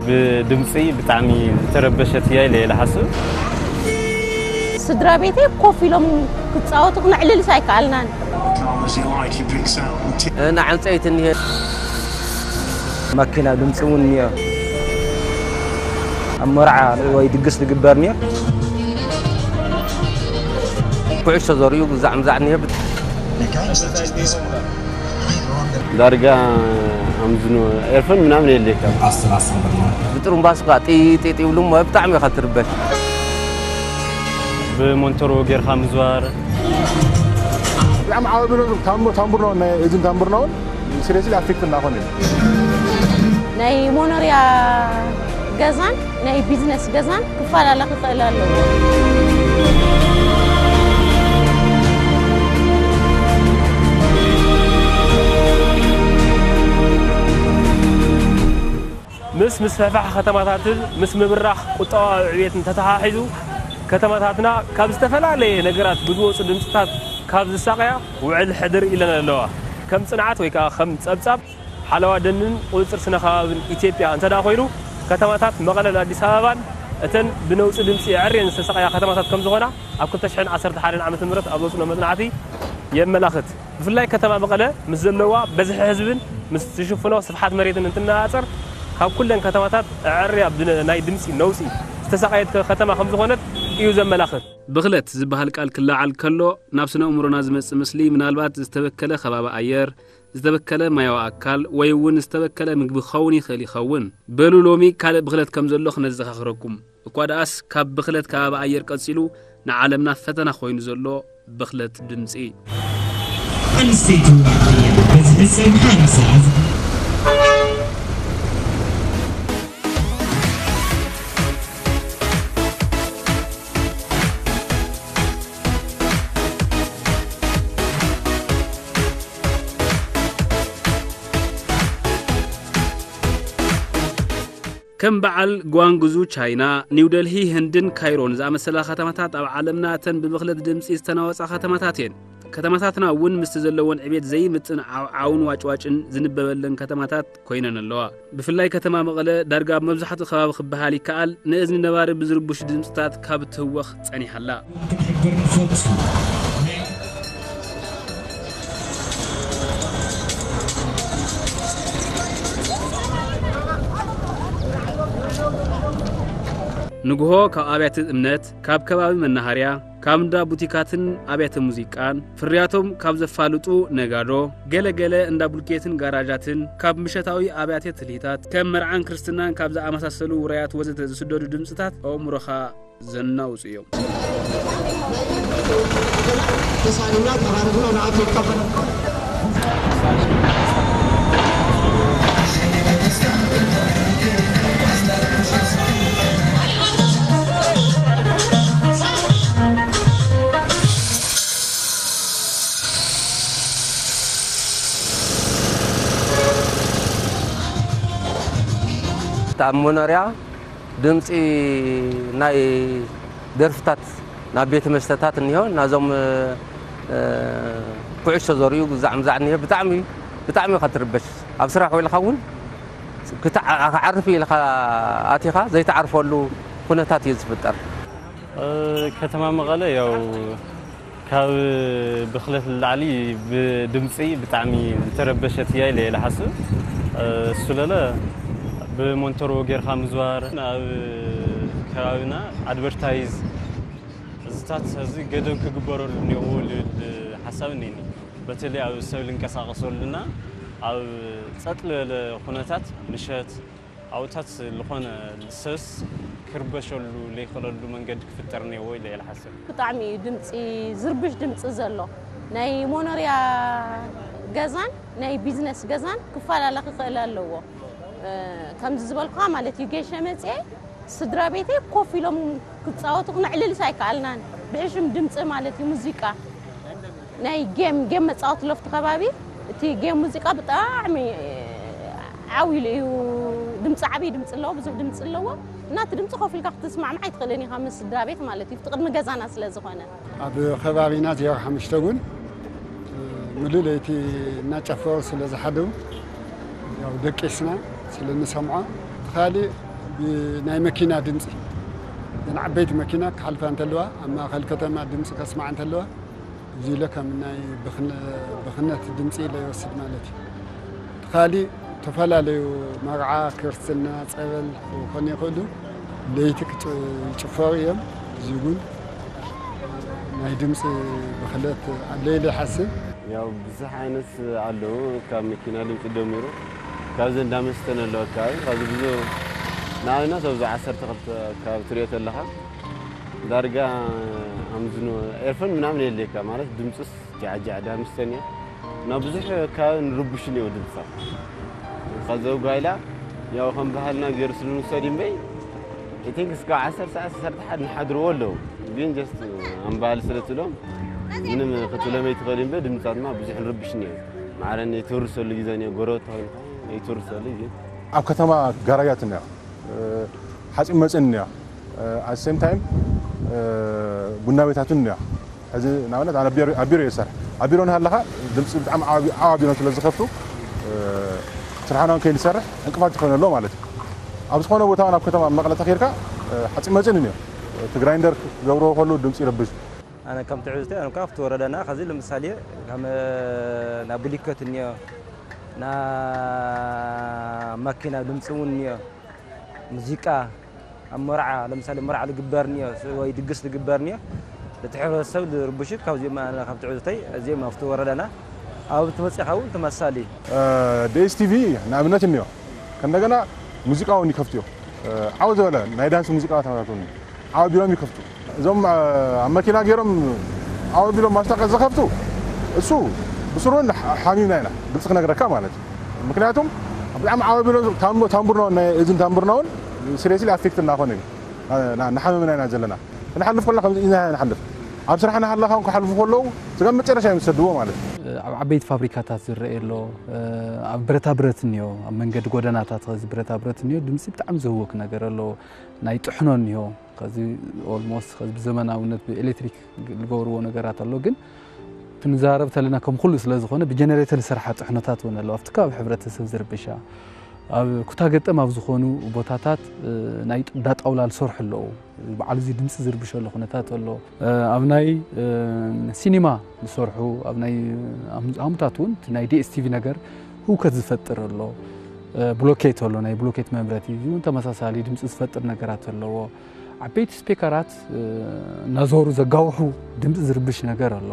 ብድምፂ ብጣዕሚ ዝተረበሸት እያ ኢለ እየ ዝሓስብ። ስድራ ቤተይ ኮፍ ኢሎም ክፃወቱ ክነዕልልስ ኣይከኣልናን። ንዓንፀይቲ እኒሀ። መኪና ድምፂ እውን እኒኦ። ኣብ መርዓ ወይ ድግስ ዝግበር እኒኦ። ኩዕሾ ዘርእዩ ግዛዕ ምዛዕ እኒሀ። ዳርጋ ኣምዝኖ ኤርፎን ምናምን የለካ። ብጥሩምባስ ኳ ጢ ጢ ጢ ይብሉ እሞ ብጣዕሚ ኢኻ ትርበሽ። ብሞንቶሮ ጌርካ ምዝዋር። ብጣዕሚ ዓቢ ብሎ ታምቡር ታምቡር ነው ናይ እዝን ታምቡር ነው። ስለዚህ ኣፌክት እናኾነ እዩ። ናይ ሞኖርያ ገዛን ናይ ቢዝነስ ገዛን ክፈላለ ክኽእል ኣለዎ። ምስ ምስፍሕፋሕ ከተማታትን ምስ ምብራኽ ቁጠባዊ ዕብየትን ተተሓሒዙ፣ ከተማታትና ካብ ዝተፈላለየ ነገራት ብዝወፁ ድምፅታት ካብ ዝሳቐያ ውዕል ሕድር ኢለን ኣለዋ። ከም ፅንዓት ወይ ከዓ ከም ፀብፃብ ሓለዋ ደንን ቁፅፅር ስነ ከባብን ኢትዮጵያ እንተዳ ኮይኑ፣ ከተማታት መቐለን ኣዲስ ኣበባን እተን ብነውፂ ድምፂ ኣዕርየን ዝተሳቐያ ከተማታት ከም ዝኾና ኣብ ክልተ ሽሕን ዓሰርተ ሓደን ዓመተ ምህረት ኣብ ዘውፅእሎ መፅናዕቲ የመላኽት። ብፍላይ ከተማ መቐለ ምስ ዘለዋ በዝሒ ህዝብን ምስ ትሽፍኖ ስፍሓት መሬትን እንትነፃፀር፣ ካብ ኩለን ከተማታት ኣዕርያ ብናይ ድምፂ ነውፂ ዝተሳቐየት ከተማ ከም ዝኾነት እዩ ዘመላኽት። ብኽለት ዝበሃል ቃል ክለዓል ከሎ፣ ናብ ስነ ኣእምሮና ዝመጽእ ምስሊ ምናልባት ዝተበከለ ከባቢ ኣየር፣ ዝተበከለ ማያዊ ኣካል፣ ወይ እውን ዝተበከለ ምግቢ ክኸውን ይኽእል ይኸውን። በሉ ሎሚ ካልእ ብኽለት ከም ዘሎ ክነዘኻኽረኩም። እኳ ደኣስ ካብ ብኽለት ከባቢ ኣየር ቀጺሉ ንዓለምና ፈተና ኮይኑ ዘሎ ብኽለት ድምጺ። ኣንስተይቲ ዋዕትያ በዝሒ ሰብ ሓምሳ ከም በዓል ጓንግዙ ቻይና፣ ኒው ደልሂ ህንድን ካይሮን ዝኣመሰላ ከተማታት ኣብ ዓለምና እተን ብብኽለት ድምፂ ዝተናወፃ ከተማታት እየን። ከተማታትና እውን ምስቲ ዘለወን ዕቤት ዘይምጥን ዓውዓውን ዋጭዋጭን ዝንበበለን ከተማታት ኮይነን ኣለዋ። ብፍላይ ከተማ መቐለ ዳርጋ ኣብ መብዛሕትኡ ከባቢ ክበሃል ይከኣል ንእዝኒ ነባሪ ብዝርብሹ ድምፅታት ካብ ትህወኽ ፀኒሓ ኣላ። ንግሆ ካብ ኣብያተ እምነት፣ ካብ ከባቢ መናሃርያ፣ ካብ እንዳ ቡቲካትን ኣብያተ ሙዚቃን፣ ፍርያቶም ካብ ዘፋልጡ ነጋዶ፣ ገለ ገለ እንዳ ቡልኬትን ጋራጃትን፣ ካብ ምሸታዊ ኣብያተ ትልሂታት፣ ከም መርዓን ክርስትናን ካብ ዝኣመሳሰሉ ውራያት ወዘተ ዝስደዱ ድምፅታት ኣእምሮኻ ዘናውፁ እዮም። ኣብ መኖርያ ድምፂ ናይ ደርፍታት ናብ ቤት መስተታት እኒሆ ናዞም ኩዕሾ ዘርእዩ ግዛዕ ምዛዕ እኒሆ ብጣዕሚ ብጣዕሚ ኢኻ ትርበሽ። ኣብ ስራሕ ውዒልካ እውን ክዓርፍ ኢልካ ኣቲኻ ዘይትዓርፈሉ ኩነታት እዩ ዝፍጠር። ከተማ መቐለ ያው ካብ ብኽለት ንላዕሊ ብድምፂ ብጣዕሚ ዝተረበሸት እያ ኢለ እየ ዝሓስብ። እሱ ለለ ብሞንቶሮ ጌርካ ምዝዋር ኣብ ከባቢና ኣድቨርታይዝ እዚታት እዚ ገደብ ክግበረሉ እኒኦዎ ልብል ሓሳብ እኒኒ። በተለይ ኣብ ሰብ ልንቀሳቀሰሉና ኣብ ፀጥ ዝበለ ኩነታት ምሸት ኣብታት ዝኾነ ሰብስ ክርበሸሉ ለይኽእለሉ መንገዲ ክፍጠር እኒኦዎ ኢለ እየ ዝሓስብ። ብጣዕሚ እዩ ድምፂ ዝርብሽ ድምፂ ዘሎ ናይ ሞኖርያ ገዛን ናይ ቢዝነስ ገዛን ክፈላለ ክኽእል ኣለዎ። ከምዚ ዝበልኩኻ ማለት እዩ ጌሸ መፅኤ ስድራ ቤተይ ኮፍ ኢሎም ክፃወቱ ክነዕልልስ ኣይከኣልናን ብሕሽም ድምፂ ማለት እዩ ሙዚቃ ናይ ጌም ጌም መፃወቲ ለፍቲ ከባቢ እቲ ጌም ሙዚቃ ብጣዕሚ ዓው ኢሉ እዩ ድምፂ ዓብይ ድምፂ ኣለዎ ብዙሕ ድምፂ ኣለዎ እና እቲ ድምፂ ኮፍ ኢልካ ክትስማዕማዕ ኣይትኽእልን ኢኻ ምስ ስድራ ቤት ማለት እዩ እቲ ቅድሚ ገዛና ስለ ዝኾነ ኣብ ከባቢና ዜሮ ሓሙሽተ እውን ምሉእ ለይቲ እናጨፈሩ ስለ ዝሓደሩ ያው ደቂስና ስለ ንሰምዖ እቲ ካሊእ ብናይ መኪና ድምፂ፣ እዘን ዓበይቲ መኪና ክሓልፋ እንተለዋ፣ ኣብ ማእኸል ከተማ ድምፂ ከስማዕ እንተለዋ፣ እዚ ኢለ ከም ናይ ብኽነ-፣ ብኽነት ድምፂ ኢለ ይወስድ ማለት እዩ። እቲ ካሊእ፣ ዝተፈላለዩ መርዓ፣ ክርስትና፣ ፀበል ክኾኑ ይኽእሉ፣ ለይቲ ክጭ-፣ ይጭፈሩ እዮም። እዚ እውን ናይ ድምፂ ብኽለት ኣሎ ኢለ ይሓስብ። ያው ብዙሕ ዓይነት ኣለዉ። ካብ መኪና ድምፂ ጀሚሩ፣ ካብዚ እንዳ መስተን ኣለዉ ኣከባቢ፣ ካብዚ ብዙ ንኣብነት ኣብዚ ዓሰርተ ክልተ ኣከባቢ ትሪኦ ተለኻ፣ ዳርጋ ኣምዝኑ ኤርፎን ምናምን የድልየካ፣ ማለት ድምፅስ ጃዕጃዕ ዳ መስተን እያ። እና ብዙሕ ከባቢ ንርብሹ እኒኦ ድምፃ። ካብዚ ጓይላ ያው ከም ባህልና ገይሩ ስለ ንውሰድ እምበይ፣ I think እስካብ ዓሰርተ ሰዓት፣ ዓሰርተ ሓደ ንሓድርዎ ኣለዉ። ግን just ኣምባል ስለ ትብሎም ምንም ክትብሎም ኣይትኽእል እምበር ድምፃትና ብዙሕ ንርብሽ እኒኦ። ማዕረ ይትውርሰሉ ግዜ እኒኦ፣ ጎረቤት ተኾይንካ ይትውርሰሉ ግን ኣብ ከተማ ጋራጃት እኒኦ፣ እ፣ ሓፂን መፂን እኒኦ፣ እ፣ at the same time፣ እ፣ ቡና ቤታት እውን እኒኦ። ሕዚ ንኣብነት ኣነ ኣብ ቢሮ፣ ኣብ ቢሮ እየ ዝሰርሕ። ኣብ ቢሮ እናሃለኻ ድምፂ ብጣዕሚ ዓቢ-፣ ዓቢ ኣቢሎም ስለ ዝኸፍቱ፣ እ፣ ስራሕና እውን ከይንሰርሕ ዕንቅፋት ይኾነሉ ማለት እዩ። ኣብ ዝኾነ ቦታ እውን ኣብ ከተማ መቐለ ተኸይድካ፣ እ፣ ሓፂን መፂን እዩ። እቲ ግራይንደር ክገብርዎ ከሉ ድምፂ ይረብሽ። ኣነ ከም ትዕዝቶ፣ ኣነ ካብቲ ወረዳና፣ ከዚ ለምሳሌ ከም ናብ ብሊኮት እኒኦ፣ ና ማኪና ድምፂ እውን እኒኦ፣ ሙዚቃ ኣብ መርዓ፣ ለምሳሌ መርዓ ዝግበር እኒኦ፣ ወይ ድግስ ዝግበር እኒኦ፣ እቲ ሕብረተሰብ ዝርብሹ ካብዚኦም፣ ኣነ ካብ ትዕዝቶይ፣ እዚኦም ኣብቲ ወረዳና፣ ኣብ ትመፅኻ እውን ተመሳሳሊ። እ፣ ዲ ኤስ ቲ ቪ ንኣብነት እኒኦ፣ ከእንደገና ሙዚቃ እውን ይከፍትዮ። እ፣ ዓው ዝበለ ናይ ዳንስ ሙዚቃ ተመታትኒ ዓው ቢሎም ይከፍቱ። እዞም፣ እ፣ ኣብ መኪና ገይሮም ዓው ቢሎም ማስታወቂያ ዝኸፍቱ፣ እሱ ብስሩ ን-፣ ሓሚምና ኢና፣ ግልፂ ክነግረካ ማለት እዩ። ምክንያቱም ብጣዕሚ ዓው ቢሎም ታምቡ-፣ ታምቡርና እውን፣ ናይ እዝን ታምቡርና እውን ሲሪየስሊ ኣፌክት እናኾነ እዩ። ና-፣ ና-፣ እናሓመምና ኢና ዘለና። ክንሓልፍ ከለና ከምዚ ኢና ንሓልፍ። ኣብ ስራሕ እናሃለኻ እውን ክሓልፉ ከለዉ ስጋብ መጨረሻ እዮም ዝሰድዎ ማለት እዩ። ኣብ ዓበይቲ ፋብሪካታት ዝረአ ኣሎ፣ ኣብ ብረታ ብረት እኒኦ፣ ኣብ መንገዲ ጎደናታት ኸዚ ብረታ ብረት እኒኦ፣ ድምፂ ብጣዕሚ ዘህውክ ነገር ኣሎ። ናይ ጥሕኖ እኒኦ፣ ኸዚ ኦልሞስት ኸዚ ብዘመናውነት ብኤሌክትሪክ ዝገብርዎ ነገራት ኣሎ። ግን ክንዛረብ ተለና ከም ኩሉ ስለ ዝኾነ ብጀነሬተር ዝሰርሓ ጥሕኖታት እውን ኣለዋ። ኣብቲ ከባቢ ሕብረተሰብ ዝርብሻ፣ ኣብ ኩታ ገጠም ኣብ ዝኾኑ ቦታታት፣ እ፣ ናይ ጥ-፣ እንዳ ጣውላ ዝሰርሑ ኣለዉ። በዓል እዚ ድምፂ ዝርብሸሉ ኩነታት ኣሎ። እ፣ ኣብ ናይ፣ እ፣ ሲኒማ ዝሰርሑ፣ ኣብ ናይ፣ እ፣ ኣም-፣ ኣሙታት እውን እቲ ናይ ዲ ኤስ ቲ ቪ ነገር ህውከት ዝፈጥር ኣሎ። እ፣ ብሎኬት ኣሎ፣ ናይ ብሎኬት መምረቲ፣ እዚ እውን ተመሳሳሊ ድምፂ ዝፈጥር ነገራት ኣለዎ። ዓበይቲ ስፒከራት፣ እ፣ እናዞሩ ዘጋውሑ ድምፂ ዝርብሽ ነገር ኣሎ።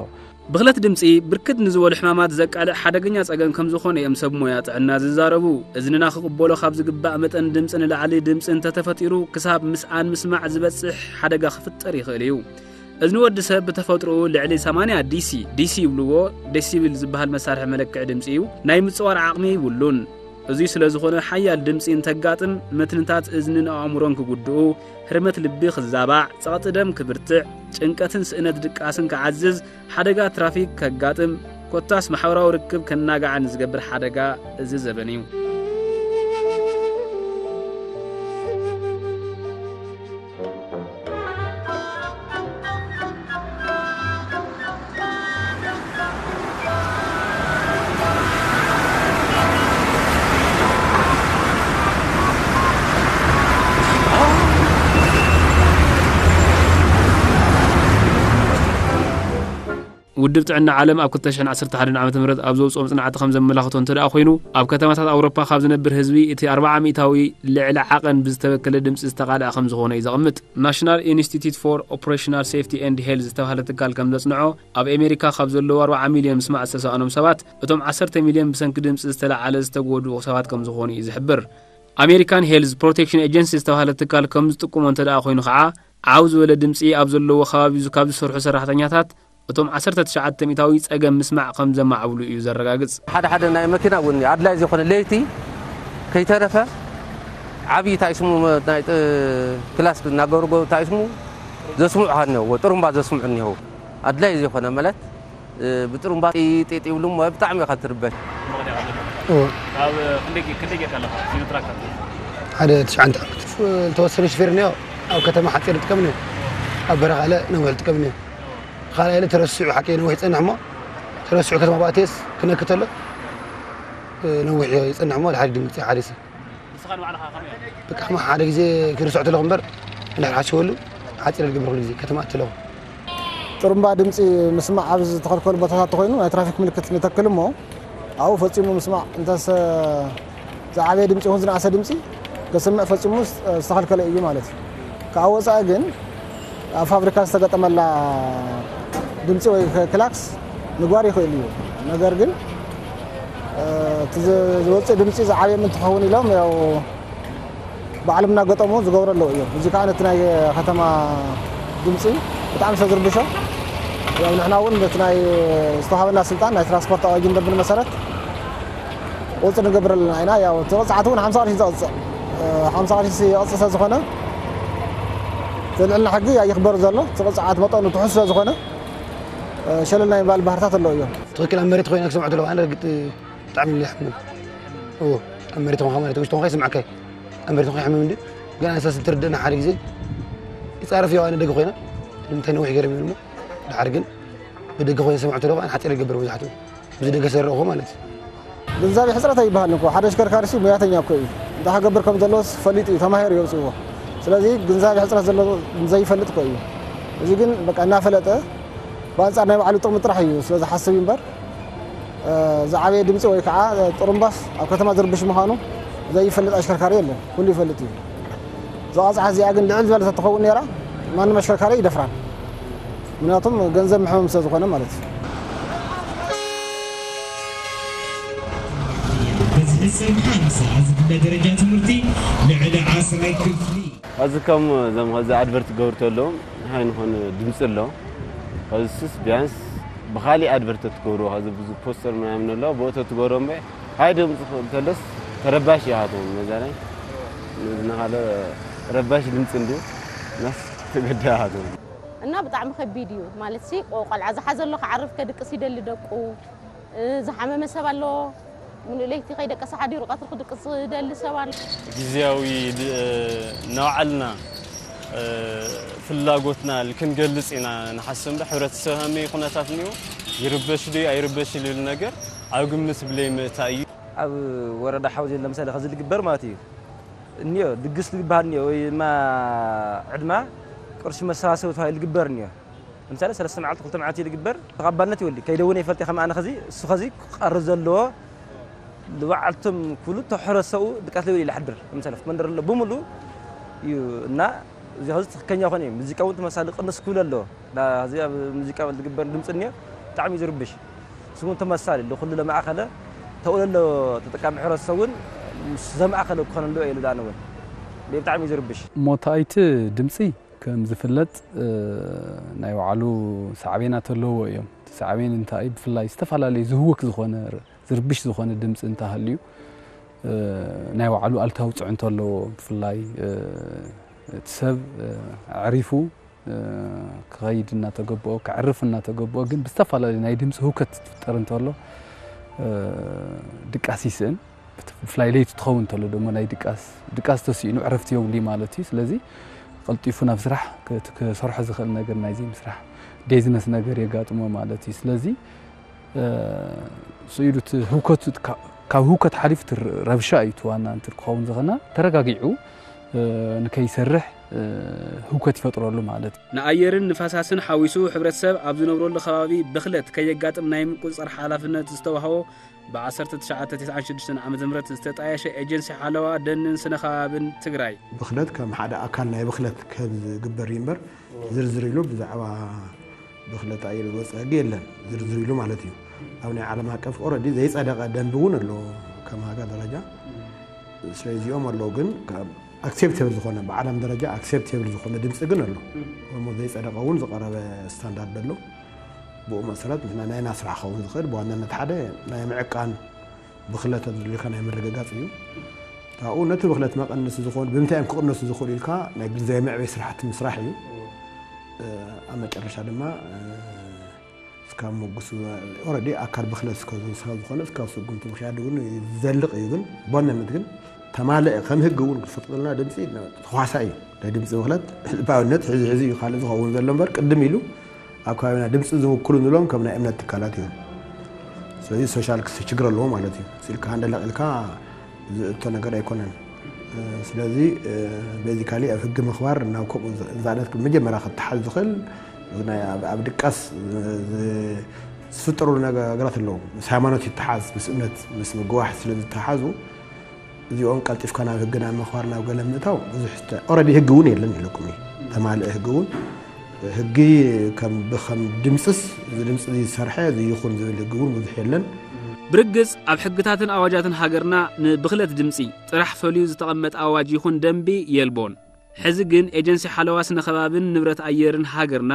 ብኽለት ድምፂ ብርክት ንዝበሉ ሕማማት ዘቃልዕ ሓደገኛ ፀገም ከም ዝኾነ እዮም ሰብ ሞያ ጥዕና ዝዛረቡ። እዝንና ክቕበሎ ካብ ዝግባእ መጠን ድምፂ ንላዕሊ ድምፂ እንተተፈጢሩ ክሳብ ምስኣን ምስማዕ ዝበፅሕ ሓደጋ ክፍጠር ይኽእል እዩ። እዝኒ ወዲ ሰብ ብተፈጥሮኡ ልዕሊ ሰማንያ ዲ ሲ፣ ዲ ሲ ይብልዎ፣ ዴሲብል ዝበሃል መሳርሒ መለክዒ ድምፂ እዩ፣ ናይ ምፅዋር ዓቕሚ ይብሉን። እዙይ ስለ ዝኾነ ሓያል ድምፂ እንተጋጥም መትንታት እዝንን ኣእምሮን ክጉድኡ፣ ህርመት ልቢ ክዛባዕ፣ ፀቕጢ ደም ክብርትዕ፣ ጭንቀትን ስእነት ድቃስን ክዓዝዝ፣ ሓደጋ ትራፊክ ከጋጥም፣ ኮታስ ማሕበራዊ ርክብ ከናጋዕን ዝገብር ሓደጋ እዚ ዘበን እዩ። ውድብ ጥዕና ዓለም ኣብ ክልተ ሽሕን ዓሰርተ ሓደን ዓመተ ምህረት ኣብ ዘውፅኦ መፅናዕቲ ከም ዘመላኽቶ እንተ ደኣ ኮይኑ፣ ኣብ ከተማታት ኣውሮፓ ካብ ዝነብር ህዝቢ እቲ ኣርብዓ ሚእታዊ ልዕሊ ዓቐን ብዝተበከለ ድምፂ ዝተቓልዐ ከም ዝኾነ እዩ ዘቕምጥ። ናሽናል ኢንስቲትዩት ፎር ኦፕሬሽናል ሴፍቲ ኤንድ ሄልዝ ዝተባህለ ትካል ከም ዘፅንዖ፣ ኣብ ኣሜሪካ ካብ ዘለዉ ኣርብዓ ሚልዮን ምስማዕ ዝተሳእኖም ሰባት፣ እቶም ዓሰርተ ሚልዮን ብሰንኪ ድምፂ ዝተለዓለ ዝተጎድኡ ሰባት ከም ዝኾኑ እዩ ዝሕብር። ኣሜሪካን ሄልዝ ፕሮቴክሽን ኤጀንሲ ዝተባህለ ትካል ከም ዝጥቁሞ እንተ ደኣ ኮይኑ ከዓ፣ ዓው ዝበለ ድምፂ ኣብ ዘለዎ ከባቢ ካብ ዝሰርሑ ሰራሕተኛታት፣ እቶም ዓሰርተ ትሽዓተ ሚእታዊ ፀገም ምስማዕ ከም ዘማዕብሉ እዩ ዘረጋግፅ። ሓደ ሓደ ናይ መኪና እውን ኣድላይ ዝኾነ ለይቲ ከይተረፈ ዓብዪ ታይስሙ ናይ ጥ-፣ ክላስ እናገርጎ ታይስሙ ዘስምዑኻ እኒሀው፣ ጥሩምባ ዘስምዑ እኒሀው። ኣድላይ ዝኾነ ማለት፣ እ፣ ብጥሩምባ ጢጢጥ ይብሉ እሞ ብጣዕሚ ኢኻ ትርበሽ። እወ። ኣብ ክንደይ ጌ-፣ ክንደይ ጌርካ ኣለኻ? ሲኖትራክ ኣብ ሓደ ትሽዓተ ዓመት። ዝተወሰነ ሹፌር እኒኦ ኣብ ከተማ ሓፂር ይጥቀም እኒኦ፣ ኣብ በረኻ ለ ነዊሕ ይጥቀም እኒኦ። ካልኣይ ኢለ ተረሲዑ ሓቂ ነዊሕ ይጸንሕ እሞ፣ ተረሲዑ ከተማ ባእቴስ ክነኪ ተሎ፣ ነዊሕ ይጸንሕ እሞ፣ ድሓር ድንግጽ ሓደ ሰብ። ንስኻ በቃ ሓደ ግዜ ክርስዖ ተለኹ እምበር እንድሕር ሓሲበሉ ሓፂር ዝገብር ኩሉ ግዜ ከተማ እትለኹ። ጥሩምባ ድምፂ ምስማዕ ኣብ ዝተኸልከሉ ቦታታት ተኾይኑ ናይ ትራፊክ ምልክት ንተክል እሞ ኣብኡ ፈፂሙ ምስማዕ እንተሰ ዝዓበየ ድምፂ ይኹን ዝነኣሰ ድምፂ ከስምዕ ፈፂሙ ዝተኸልከለ እዩ ማለት እዩ። ካብ ወፃኢ ግን ኣብ ፋብሪካ ዝተገጠመላ ድምፂ ወይ ክላክስ ምግባር ይኽእል እዩ። ነገር ግን እቲ ዝወፅእ ድምፂ ዝዓበየ እንትኸውን ኢሎም ያው ባዕሎም እናገጠሙ ዝገብሩ ኣለዉ እዮም። እዚ ከዓ ነቲ ናይ ከተማ ድምፂ ብጣዕሚ ስለ ዝርብሾ ያው ንሕና እውን በቲ ናይ ዝተዋሃበና ስልጣን ናይ ትራንስፖርት ኣዋጅን ደንብን መሰረት ቁፅፅር ንገብር ኣለና ኢና። ያው እቲ ቅፅዓት እውን ሓምሳ ቅርሺ ዘቕፅዕ ሓምሳ ቅርሺ የቕፅዕ ስለ ዝኾነ እቲ ልዕልና ሕጊ ኣይኽበር ዘሎ። እቲ ቅፅዓት መጠኑ ትሑት ስለ ዝኾነ ሸለል ናይ ምባል ባህርታት ኣለዉ እዮም። ትኽክል ኣብ መሬት ኮይና ክሰምዖ ተለዋ ኣነ ርግጥ ብጣዕሚ ይሕምን። እዎ ኣብ መሬት ኾንካ ማለት ውሽጢ ኾንካ ይስምዓካ እዩ። ኣብ መሬት ኾንካ ይሕምም እንዲ ግን ኣነሳስ እንትርድእና ሓደ ግዜ ይፃረፍ እዩ ኣነ ደገ ኮይና ንምንታይ ነዊሕ ገይሮም ይብል እሞ ድሓር ግን ብደገ ኮይነ ሰምዖ ተለዋ ኣነ ሓፂር ይገብር መብዛሕትኡ ብዚ ደገ ዝረእኹ ማለት እዩ። ግንዛቤ ሕፅረት ኣይበሃልን እኮ ሓደ ኣሽከርካሪ ሲ ሙያተኛ እኮ እዩ። እንታይ ክገብር ከም ዘለዎስ ፈሊጡ እዩ ተማሂሩ የውፅእዎ። ስለዚ ግንዛቤ ሕፅረት ዘሎ ዘይፈልጥ እኮ እዩ። እዚ ግን በቃ እናፈለጠ ብኣንፃር ናይ ባዕሉ ጥቕሚ ጥራሕ እዩ ስለ ዝሓስብ እዩ እምበር ዝዓበየ ድምፂ ወይ ከዓ ጥሩምባስ ኣብ ከተማ ዝርብሽ ምዃኑ ዘይፈልጥ ኣሽከርካሪ የለን። ኩሉ ይፈልጥ እዩ። እዛ ቐፅዓት እዚኣ ግን ልዕል ዝበለ ተትኸውን ነይራ ማንም ኣሽከርካሪ ይደፍራን። ምክንያቱም ገንዘብ መሕመም ስለ ዝኾነ ማለት እዩ። ብዝሒ ሰብ ሓምሳ ዝግለ ደረጃ ትምህርቲ ልዕሊ ዓስራይ ክፍሊ። ኸዚ ከም ዞም ኸዚ ኣድቨርት ክገብሩ ተለዉ ንሃይ ንኾነ ድምፂ ኣሎ። ኸዚ ስስ ቢያንስ ብኻሊእ ኣድቨርት ተትገብሩ ኸዚ ብዙ ፖስተር ምናምን ኣሎ ብኡ ተትገብሩ እምበ ሃይ ድምፂ ተለስ ተረባሽ ይሃቶም መዛናይ ንዝናኻለ ረባሽ ድምፂ እንዲ ናስ ተገዳ ይሃቶም። እና ብጣዕሚ ከቢድ እዩ ማለት ሲ ቆ- ቆልዓ ዝሓዘ ኣሎ ክዓርፍ ከድቅስ ይደሊ ደቁ እ፣ ዝሓመመ ሰብ ኣሎ ምሉእ ለይቲ ከይደቀሰ ሓዲሩ ቀትሪ ክድቅስ ዝደሊ ሰብ ኣሎ። ግዝያዊ ድ- ናውዓልና ፍላጎትና ክንገልፅ ኢና ንሓስብ እምበር ሕብረተሰብ ከመይ ኩነታት እኒኦ ይርበሽ ዶ ኣይርበሽ ዝብል ነገር ኣብ ግምት ብለይ ምእታ እዩ። ኣብ ወረዳ ሓውዜን ለምሳሌ ከዚ ዝግበር ማለት እዩ እኒኦ ድግስ ዝግበሃል እኒኦ ወይ ድማ ዕድማ ቅርሺ መሰባሰቢ ተባሂሉ ዝግበር እኒኦ ለምሳሌ ሰለስተ መዓልቲ ክልተ መዓልቲ ዝግበር ተቐባልነት ይወልድ ከይደ እውን ይፈልጥ ከም ኣነ ከዚ እሱ ከዚ ክቐርብ ዘለዎ ንባዕልቶም ኩሉ ተሕረሰኡ ድቃስ ለይብል ይሓድር ለምሳሌ መንደር ኣሎ ብምሉ እዩ እና እዚ ከዚ ትክክለኛ ኮነ እዩ ሙዚቃ እውን ተመሳሊ ቅንስ ክብል ኣለዎ እዚ ኣብ ሙዚቃ ዝግበር ድምፂ እኒኦ ብጣዕሚ እዩ ዝርብሽ ስሙን ተመሳሊ ለኩሉ ለማእኸለ ተውለሎ ተጠቃሚ ሕብረተሰብ እውን ምስ ዘማእኸለ ክኾነ ኣለዎ ኢሉ ኣነ እውን ብጣዕሚ እዩ ዝርብሽ ሞታይት ድምፂ ከም ዝፍለጥ ናይ ባዕሉ ሳዕቤናት ኣለዎ እዮም እቲ ሳዕቤን እንታይ ብፍላይ ዝተፈላለዩ ዝህውክ ዝኾነ ዝርብሽ ዝኾነ ድምፂ እንተሃልዩ ናይ ባዕሉ ኣልታዊ ፅዕንቶ ኣለዎ ብፍላይ እቲ ሰብ ኣዕሪፉ ክኸይድ እናተገበኦ ክዕርፍ እናተገበኦ ግን ብዝተፈላለዩ ናይ ድምፂ ህውከት ዝፍጠር እንተሎ ድቃስ ይስእን ብፍላይ ለይቲ ትኸውን እንተሎ ደሞ ናይ ድቃስ ድቃስ ተስኢኑ ዕረፍቲ የብሉ ማለት እዩ ስለዚ ቀልጢፉ ናብ ስራሕ ክሰርሖ ዝኽእል ነገር ናይዚ ምስራሕ ዴዝነስ ነገር የጋጥሞ ማለት እዩ ስለዚ ስኢሉ እቲ ህውከቱ ካብ ህውከት ሓሊፉ እቲ ረብሻ እዩ እቲ ዋና እንትን ክኸውን ዝኽና ተረጋጊዑ ንከይሰርሕ ህውከት ይፈጥረሉ ማለት እዩ። ንኣየርን ንፈሳስን ሓዊሱ ሕብረተሰብ ኣብ ዝነብረሉ ከባቢ ብኽለት ከየጋጥም ናይ ምቁፅፃር ሓላፍነት ዝተዋህቦ ብ1996 ዓ.ም ዝተጣየሸ ኤጀንሲ ሓለዋ ደንን ስነ ከባብን ትግራይ። ብኽለት ከም ሓደ ኣካል ናይ ብኽለት ከም ዝግበር እዩ እምበር ዝርዝር ኢሉ ብዛዕባ ብኽለት ኣየር ዝወፀ ሕጊ የለን ዝርዝር ኢሉ ማለት እዩ። ኣብ ናይ ዓለም ኣቀፍ ኦረዲ ዘይፀደቐ ደንቢ እውን ኣሎ ከም ሃገር ደረጃ ስለዚኦም ኣለዉ ግን ኣክሴፕቴብል ዝኾነ ብዓለም ደረጃ ኣክሴፕቴብል ዝኾነ ድምፂ ግን ኣሎ እሞ ዘይፀደቐ እውን ዝቐረበ ስታንዳርድ ኣሎ ብኡ መሰረት ንሕና ናይና ስራሕ ክኸውን ዝኽእል ብዋናነት ሓደ ናይ ምዕቃን ብኽለት ተዝልካ ናይ ምርግጋፅ እዩ ካብኡ ነቲ ብኽለት መቐነሲ ዝኾኑ ብምንታይ እዮም ክቕነሱ ዝኽእሉ ኢልካ ናይ ግንዛቤ መዕበይ ስራሕቲ ምስራሕ እዩ ኣብ መጨረሻ ድማ እስካብ መጉስ ኦረዲ ኣካል ብኽለት እስከ ዝወሰኸ ዝኾነ እስካብ ስጉምቲ ምኽያድ እውን ዘልቕ እዩ ግን በዋናነት ግን ተማልአ ከም ህግ እውን ክፈቅደልና ድምፂ ተኳሳ እዩ ናይ ድምፂ ብኽለት ህዝባዊነት ሕዚ ሕዚ እዩ ካልእ ዝኸውን ዘሎ እምበር ቅድም ኢሉ ኣብ ከባቢና ድምፂ ዝውክሉ ንብሎም ከም ናይ እምነት ትካላት እዮም ስለዚ ሶሻል ክስ ችግር ኣለዎ ማለት እዩ ስኢልካ ሃንደለቕ ኢልካ ዝእቶ ነገር ኣይኮነን ስለዚ ቤዚካሊ ኣብ ሕጊ ምኽባር ናብ ከምኡ ዝኣነት መጀመርያ ክተሓዝ ዝኽእል ናይ ኣብ ድቃስ ዝፍጠሩ ነገራት ኣለዉ። ምስ ሃይማኖት ይተሓዝ፣ ምስ እምነት ምስ ምግዋሕ ስለ ዝተሓዙ እዚኦም ቀልጢፍካ ናብ ሕጊ ናብ ምኽባር ናብ ገለ ምእታው ብዙሕ ኦረዲ ሕጊ እውን የለን ኢለኩም እዩ። ተማልእ ሕጊ እውን ሕጊ ከም ብኸም ድምፅስ እዚ ድምፂ ዝሰርሐ እዚ ይኹን ዝብል ሕጊ እውን ብዙሕ የለን። ብርግጽ ኣብ ሕግታትን ኣዋጃትን ሃገርና ንብኽለት ድምፂ ጥራሕ ፈልዩ ዝተቐመጠ ኣዋጅ ይኹን ደንቢ የልቦን። ሕዚ ግን ኤጀንሲ ሓለዋ ስነ ከባብን ንብረት ኣየርን ሃገርና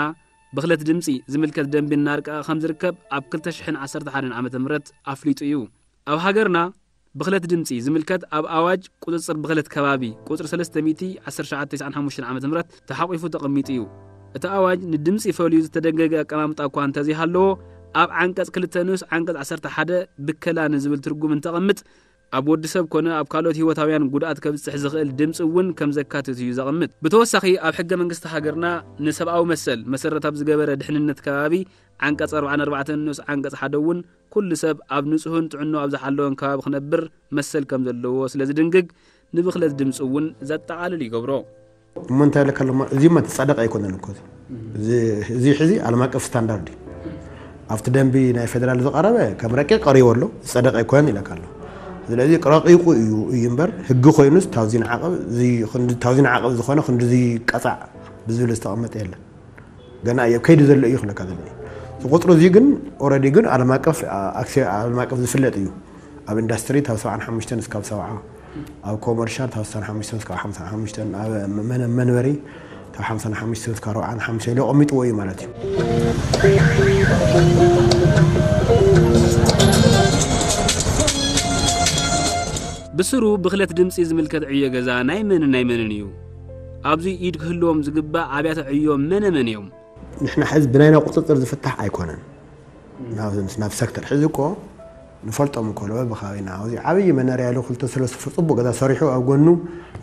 ብኽለት ድምፂ ዝምልከት ደንቢ እናርቀቐ ከም ዝርከብ ኣብ ክልተ ሽሕን ዓሰርተ ሓደን ዓመተ ምህረት ኣፍሊጡ እዩ። ኣብ ሃገርና ብኽለት ድምፂ ዝምልከት ኣብ ኣዋጅ ቁፅፅር ብኽለት ከባቢ ቁፅሪ ሰለስተ ሚእቲ ዓሰርተ ትሽዓተ ዓሰርተ ሓሙሽተ ዓመተ ምህረት ተሓቂፉ ተቐሚጡ እዩ። እቲ ኣዋጅ ንድምፂ ፈልዩ ዝተደንገገ ኣቀማምጣ እኳ እንተዘይሃለዎ ኣብ ዓንቀፅ ክልተ ንኡስ ዓንቀፅ ዓሰርተ ሓደ ብከላ ንዝብል ትርጉም እንተቐምጥ ኣብ ወዲ ሰብ ኮነ ኣብ ካልኦት ህይወታውያን ጉድኣት ከብፅሕ ዝኽእል ድምፂ እውን ከም ዘካትት እዩ ዘቐምጥ። ብተወሳኺ ኣብ ሕገ መንግስቲ ሃገርና ንሰብኣዊ መሰል መሰረት ኣብ ዝገበረ ድሕንነት ከባቢ ዓንቀፅ ኣርባዓን ኣርባዕተን ንኡስ ዓንቀፅ ሓደ እውን ኩሉ ሰብ ኣብ ንጹህን ጥዕናኡ ኣብ ዝሓለወን ከባቢ ክነብር መሰል ከም ዘለዎ ስለ ዝድንግግ ንብኽለት ድምፂ እውን ዘጠቓልል ይገብሮ። እሞ እንታይ ኢለካ ኣለኹ፣ እዚ እማ ዝፀደቀ ኣይኮነን እኮ። እዚ ሕዚ ዓለም ኣቀፍ ስታንዳርድ እዩ። ኣብቲ ደንቢ ናይ ፌደራል ዝቐረበ ከም ረቂቕ ቀሪቡ ኣሎ፣ ዝፀደቀ ኣይኮነን ኢለካ ኣለኹ። ስለዚ ረቂቑ እዩ እዩ እምበር ሕጊ ኮይኑስ ታውዚን ዓቐብ ታውዚን ዓቐብ ዝኾነ ክንድዚ ቀፃዕ ብዝብል ዝተቐመጠ የለን። ገና እየ ከይዲ ዘሎ እዩ ክለካ ዘሎ። ቁፅሩ እዚ ግን ኦረዲ ግን ዓለም ኣቀፍ ዓለም ኣቀፍ ዝፍለጥ እዩ። ኣብ ኢንዳስትሪ ካብ ሰብዓን ሓሙሽተን እስካብ ሰብዓ፣ ኣብ ኮመርሻል ካብ ስሳን ሓሙሽተን እስካብ ሓምሳን ሓሙሽተን፣ ኣብ መንበሪ ካብ ሓምሳን ሓሙሽተን እስካብ ኣርባዓን ሓሙሽተን ኢሉ ኣቐሚጥዎ እዩ ማለት እዩ። ብስሩ ብኽለት ድምፂ ዝምልከት ዕዮ ገዛ ናይ መንን ናይ መንን እዩ? ኣብዚ ኢድ ክህልዎም ዝግባእ ኣብያተ ዕዮ መነ መን እዮም? ንሕና ሕዚ ብናይና ቁፅፅር ዝፍታሕ ኣይኮነን። ናብ ሴክተር ሕዚ እኮ ንፈልጦም እኮ ለበ ብኻቢና ኣብዚ ዓብዪ መነርያ ኢሉ ክልተ ሰለስተ ጽቡቅ ገዛ ሰሪሑ ኣብ ጎኑ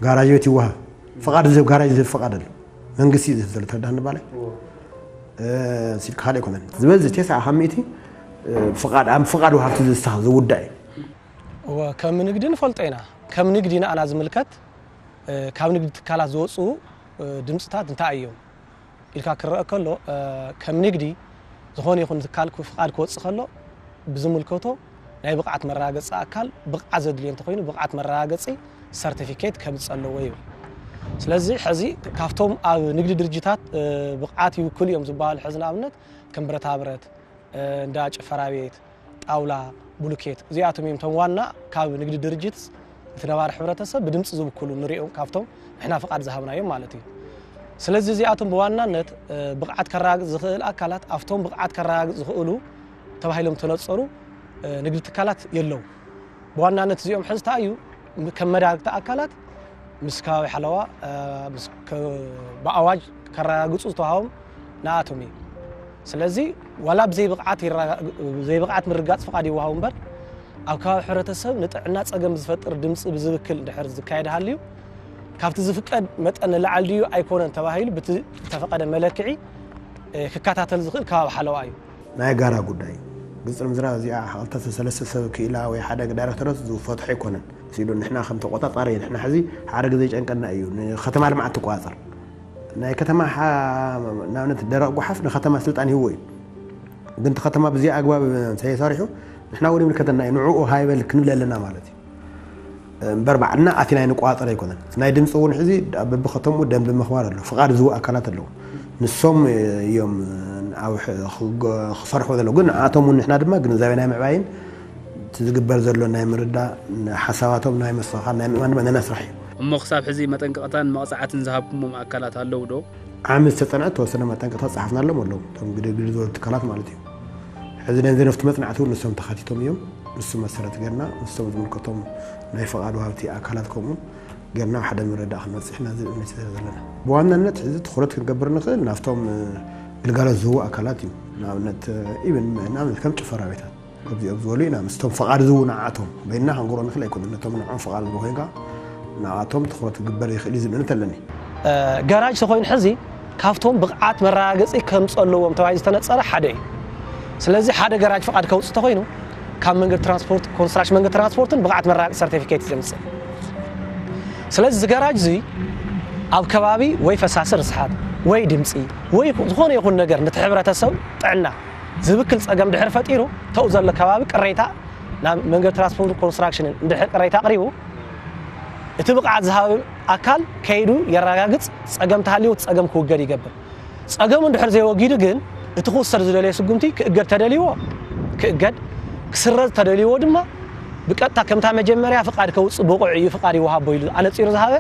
ጋራጅ ቤት ይወሃብ። ፍቃድ ዝህብ ጋራጅ ዝህብ ፍቃድ ኣሎ። መንግስቲ እዩ ዝህብ ዘሎ። ተረዳህኒ ባለይ? ሲል ካልእ ኣይኮነን ዝበዝ ቴስዓ ካብ ሚእቲ ፍቃድ ኣብ ፍቃድ ወሃብቲ ዝውዳእ እዩ። እወ ከም ንግዲ ንፈልጦ ኢና። ከም ንግዲ ንኣና ዝምልከት ካብ ንግዲ ትካላት ዝወፁ ድምፅታት እንታይ እዮም ኢልካ ክረአ ከሎ ከም ንግዲ ዝኾነ ይኹን ትካል ፍቃድ ክወፅእ ከሎ ብዝምልከቶ ናይ ብቕዓት መረጋገፂ ኣካል ብቕዓት ዘድልዮ እንተኾይኑ ብቕዓት መረጋገፂ ሰርቲፊኬት ከምፅእ ኣለዎ ይብል። ስለዚ ሕዚ ካብቶም ኣብ ንግዲ ድርጅታት ብቕዓት ይውክሉ እዮም ዝበሃሉ ሕዚ ንኣብነት ከም ብረታ ብረት፣ እንዳ ጭፈራ ቤት፣ ጣውላ፣ ቡሉኬት እዚኣቶም እዮም እቶም ዋና ካብ ንግዲ ድርጅት እቲ ነባሪ ሕብረተሰብ ብድምፂ ዝውክሉ ንሪኦም ካብቶም ንሕና ፍቓድ ዝሃብናዮም ማለት እዩ። ስለዚ እዚኣቶም ብዋናነት ብቕዓት ከረጋግፅ ዝኽእል ኣካላት ኣብቶም ብቕዓት ከረጋግፅ ዝኽእሉ ተባሂሎም ተነፀሩ ንግዲ ትካላት የለው። ብዋናነት እዚኦም ሕዚ እንታይ እዩ ከም መዳርግቲ ኣካላት ምስ ከባቢ ሓለዋ ብኣዋጅ ከረጋግፁ ዝተዋሃቦም ንኣቶም እዩ። ስለዚ ዋላ ብዘይብቕዓት ምርጋፅ ፍቓድ ይወሃቡ እምበር ኣብ ከባቢ ሕብረተሰብ ንጥዕና ፀገም ዝፈጥር ድምፂ ብዝብክል እንድሕር ዝካየድ ሃልዩ ካብቲ ዝፍቀድ መጠን ንላዕሊ ድዩ ኣይኮነን ተባሂሉ ብቲ ዝተፈቐደ መለክዒ ክከታተል ዝኽእል ከባቢ ሓለዋ እዩ። ናይ ጋራ ጉዳይ እዩ። ግልፂ ንምዝራብ እዚኣ ክልተ ሰለስተ ሰብ ክኢላ ወይ ሓደ ዳይሬክተራት ዝፈትሖ ኣይኮነን። ሲሉ ንሕና ከም ተቆፃፃሪ ንሕና ሕዚ ሓደ ግዜ ይጨንቀና እዩ። ንከተማ ልምዓት ትቆፃፀር ናይ ከተማ ንኣብነት ደረቕ ጓሓፍ ንከተማ ስልጣን ይህቦ እዩ። ግን እቲ ከተማ ብዚ ኣግባብ እንተይሰሪሑ ንሕና እውን ይምልከተና እዩ። ንዕኡ ሃይበል ክንብል ኣለና ማለት እዩ። እምበር ባዕልና ኣቲና ንቋፀር ኣይኮነን። ናይ ድምፂ እውን ሕዚ በብከተምኡ ደንቢ ምኽባር ኣሎ። ፍቓድ ዝህቡ ኣካላት ኣለዉ። ንሶም እዮም ኣብ ክሰርሑ ዘለዉ። ግን ንኣቶም እውን ንሕና ድማ ግንዛቤ ናይ ምዕባይን እቲ ዝግበር ዘሎ ናይ ምርዳእ ሓሳባቶም ናይ ምስትኽኻል ናይ ምእማን ድማ ነና ስራሕ እዩ። እሞ ክሳብ ሕዚ መጠንቀቕታን መቕፃዕትን ዝሃብኩሞም ኣካላት ኣለዉ ዶ? ዓሚ ዝተፀንዐ ተወሰነ መጠንቀቕታ ዝፀሓፍናሎም ኣለዉ። እቶም ግድግድ ዝበሉ ትካላት ማለት እዩ። ሕዚ ነዚ ነፍቲ መፅናዕቲ እውን ንሶም ተኻቲቶም እዮም። ንሱ መሰረት ገርና ንሶም ዝምልከቶም ናይ ፍቓድ ወሃብቲ ኣካላት ከምኡ ገርና ሓደ ምርዳእ ክንበፅሕ ኢና ዝብል እምነት እዩ ዘለና። ብዋናነት ሕዚ ትኹረት ክንገብር ንኽእል ናብቶም ግልጋሎት ዝህቡ ኣካላት እዩ። ንኣብነት ኢብን ንኣብነት ከም ጭፈራ ቤታት ከምዚኦም ዝበሉ ኢና ምስቶም ፍቓድ ዝህቡ ንዓቶም በይንና ክንገብሮ ንኽእል ኣይኮነን። ነቶም ንዕኦም ፍቓድ ዝህቡ ኮይንካ ንኣቶም ትኹረት ክግበር ይኽእል እዩ ዝብል እምነት ኣለኒ። ጋራጅ ተኾይኑ ሕዚ ካብቶም ብቕዓት መረጋገፂ ከምፅእ ኣለዎም ተባሂሉ ዝተነፀረ ሓደ እዩ። ስለዚ ሓደ ጋራጅ ፍቓድ ከውፅእ ተኾይኑ ካብ መንገዲ ትራንስፖርት ኮንስትራክሽን መንገዲ ትራንስፖርትን ብቕዓት መረጋገፂ ሰርቲፊኬት እዩ ዘምፅእ። ስለዚ እዚ ገራጅ እዚ ኣብ ከባቢ ወይ ፈሳሲ ርስሓት ወይ ድምፂ ወይ ዝኾነ ይኹን ነገር ነቲ ሕብረተሰብ ጥዕና ዝብክል ፀገም ድሕር ፈጢሩ፣ ተው ዘሎ ከባቢ ቅሬታ ናብ መንገዲ ትራንስፖርት ኮንስትራክሽንን እንድሕር ቅሬታ ኣቕሪቡ፣ እቲ ብቕዓት ዝሃብ ኣካል ከይዱ የረጋግፅ፣ ፀገም ተሃልዩ እቲ ፀገም ክውገድ ይገብር። ፀገሙ እንድሕር ዘይወጊዱ ግን እቲ ክውሰድ ዝደለየ ስጉምቲ ክእገድ ተደልይዎ ክእገድ፣ ክስረዝ ተደልይዎ ድማ ብቀጥታ ከምታ መጀመርያ ፍቓድ ከውፅእ ብቑዕ እዩ፣ ፍቓድ ይወሃቦ ኢሉ ኣነፂሩ ዝሃበ፣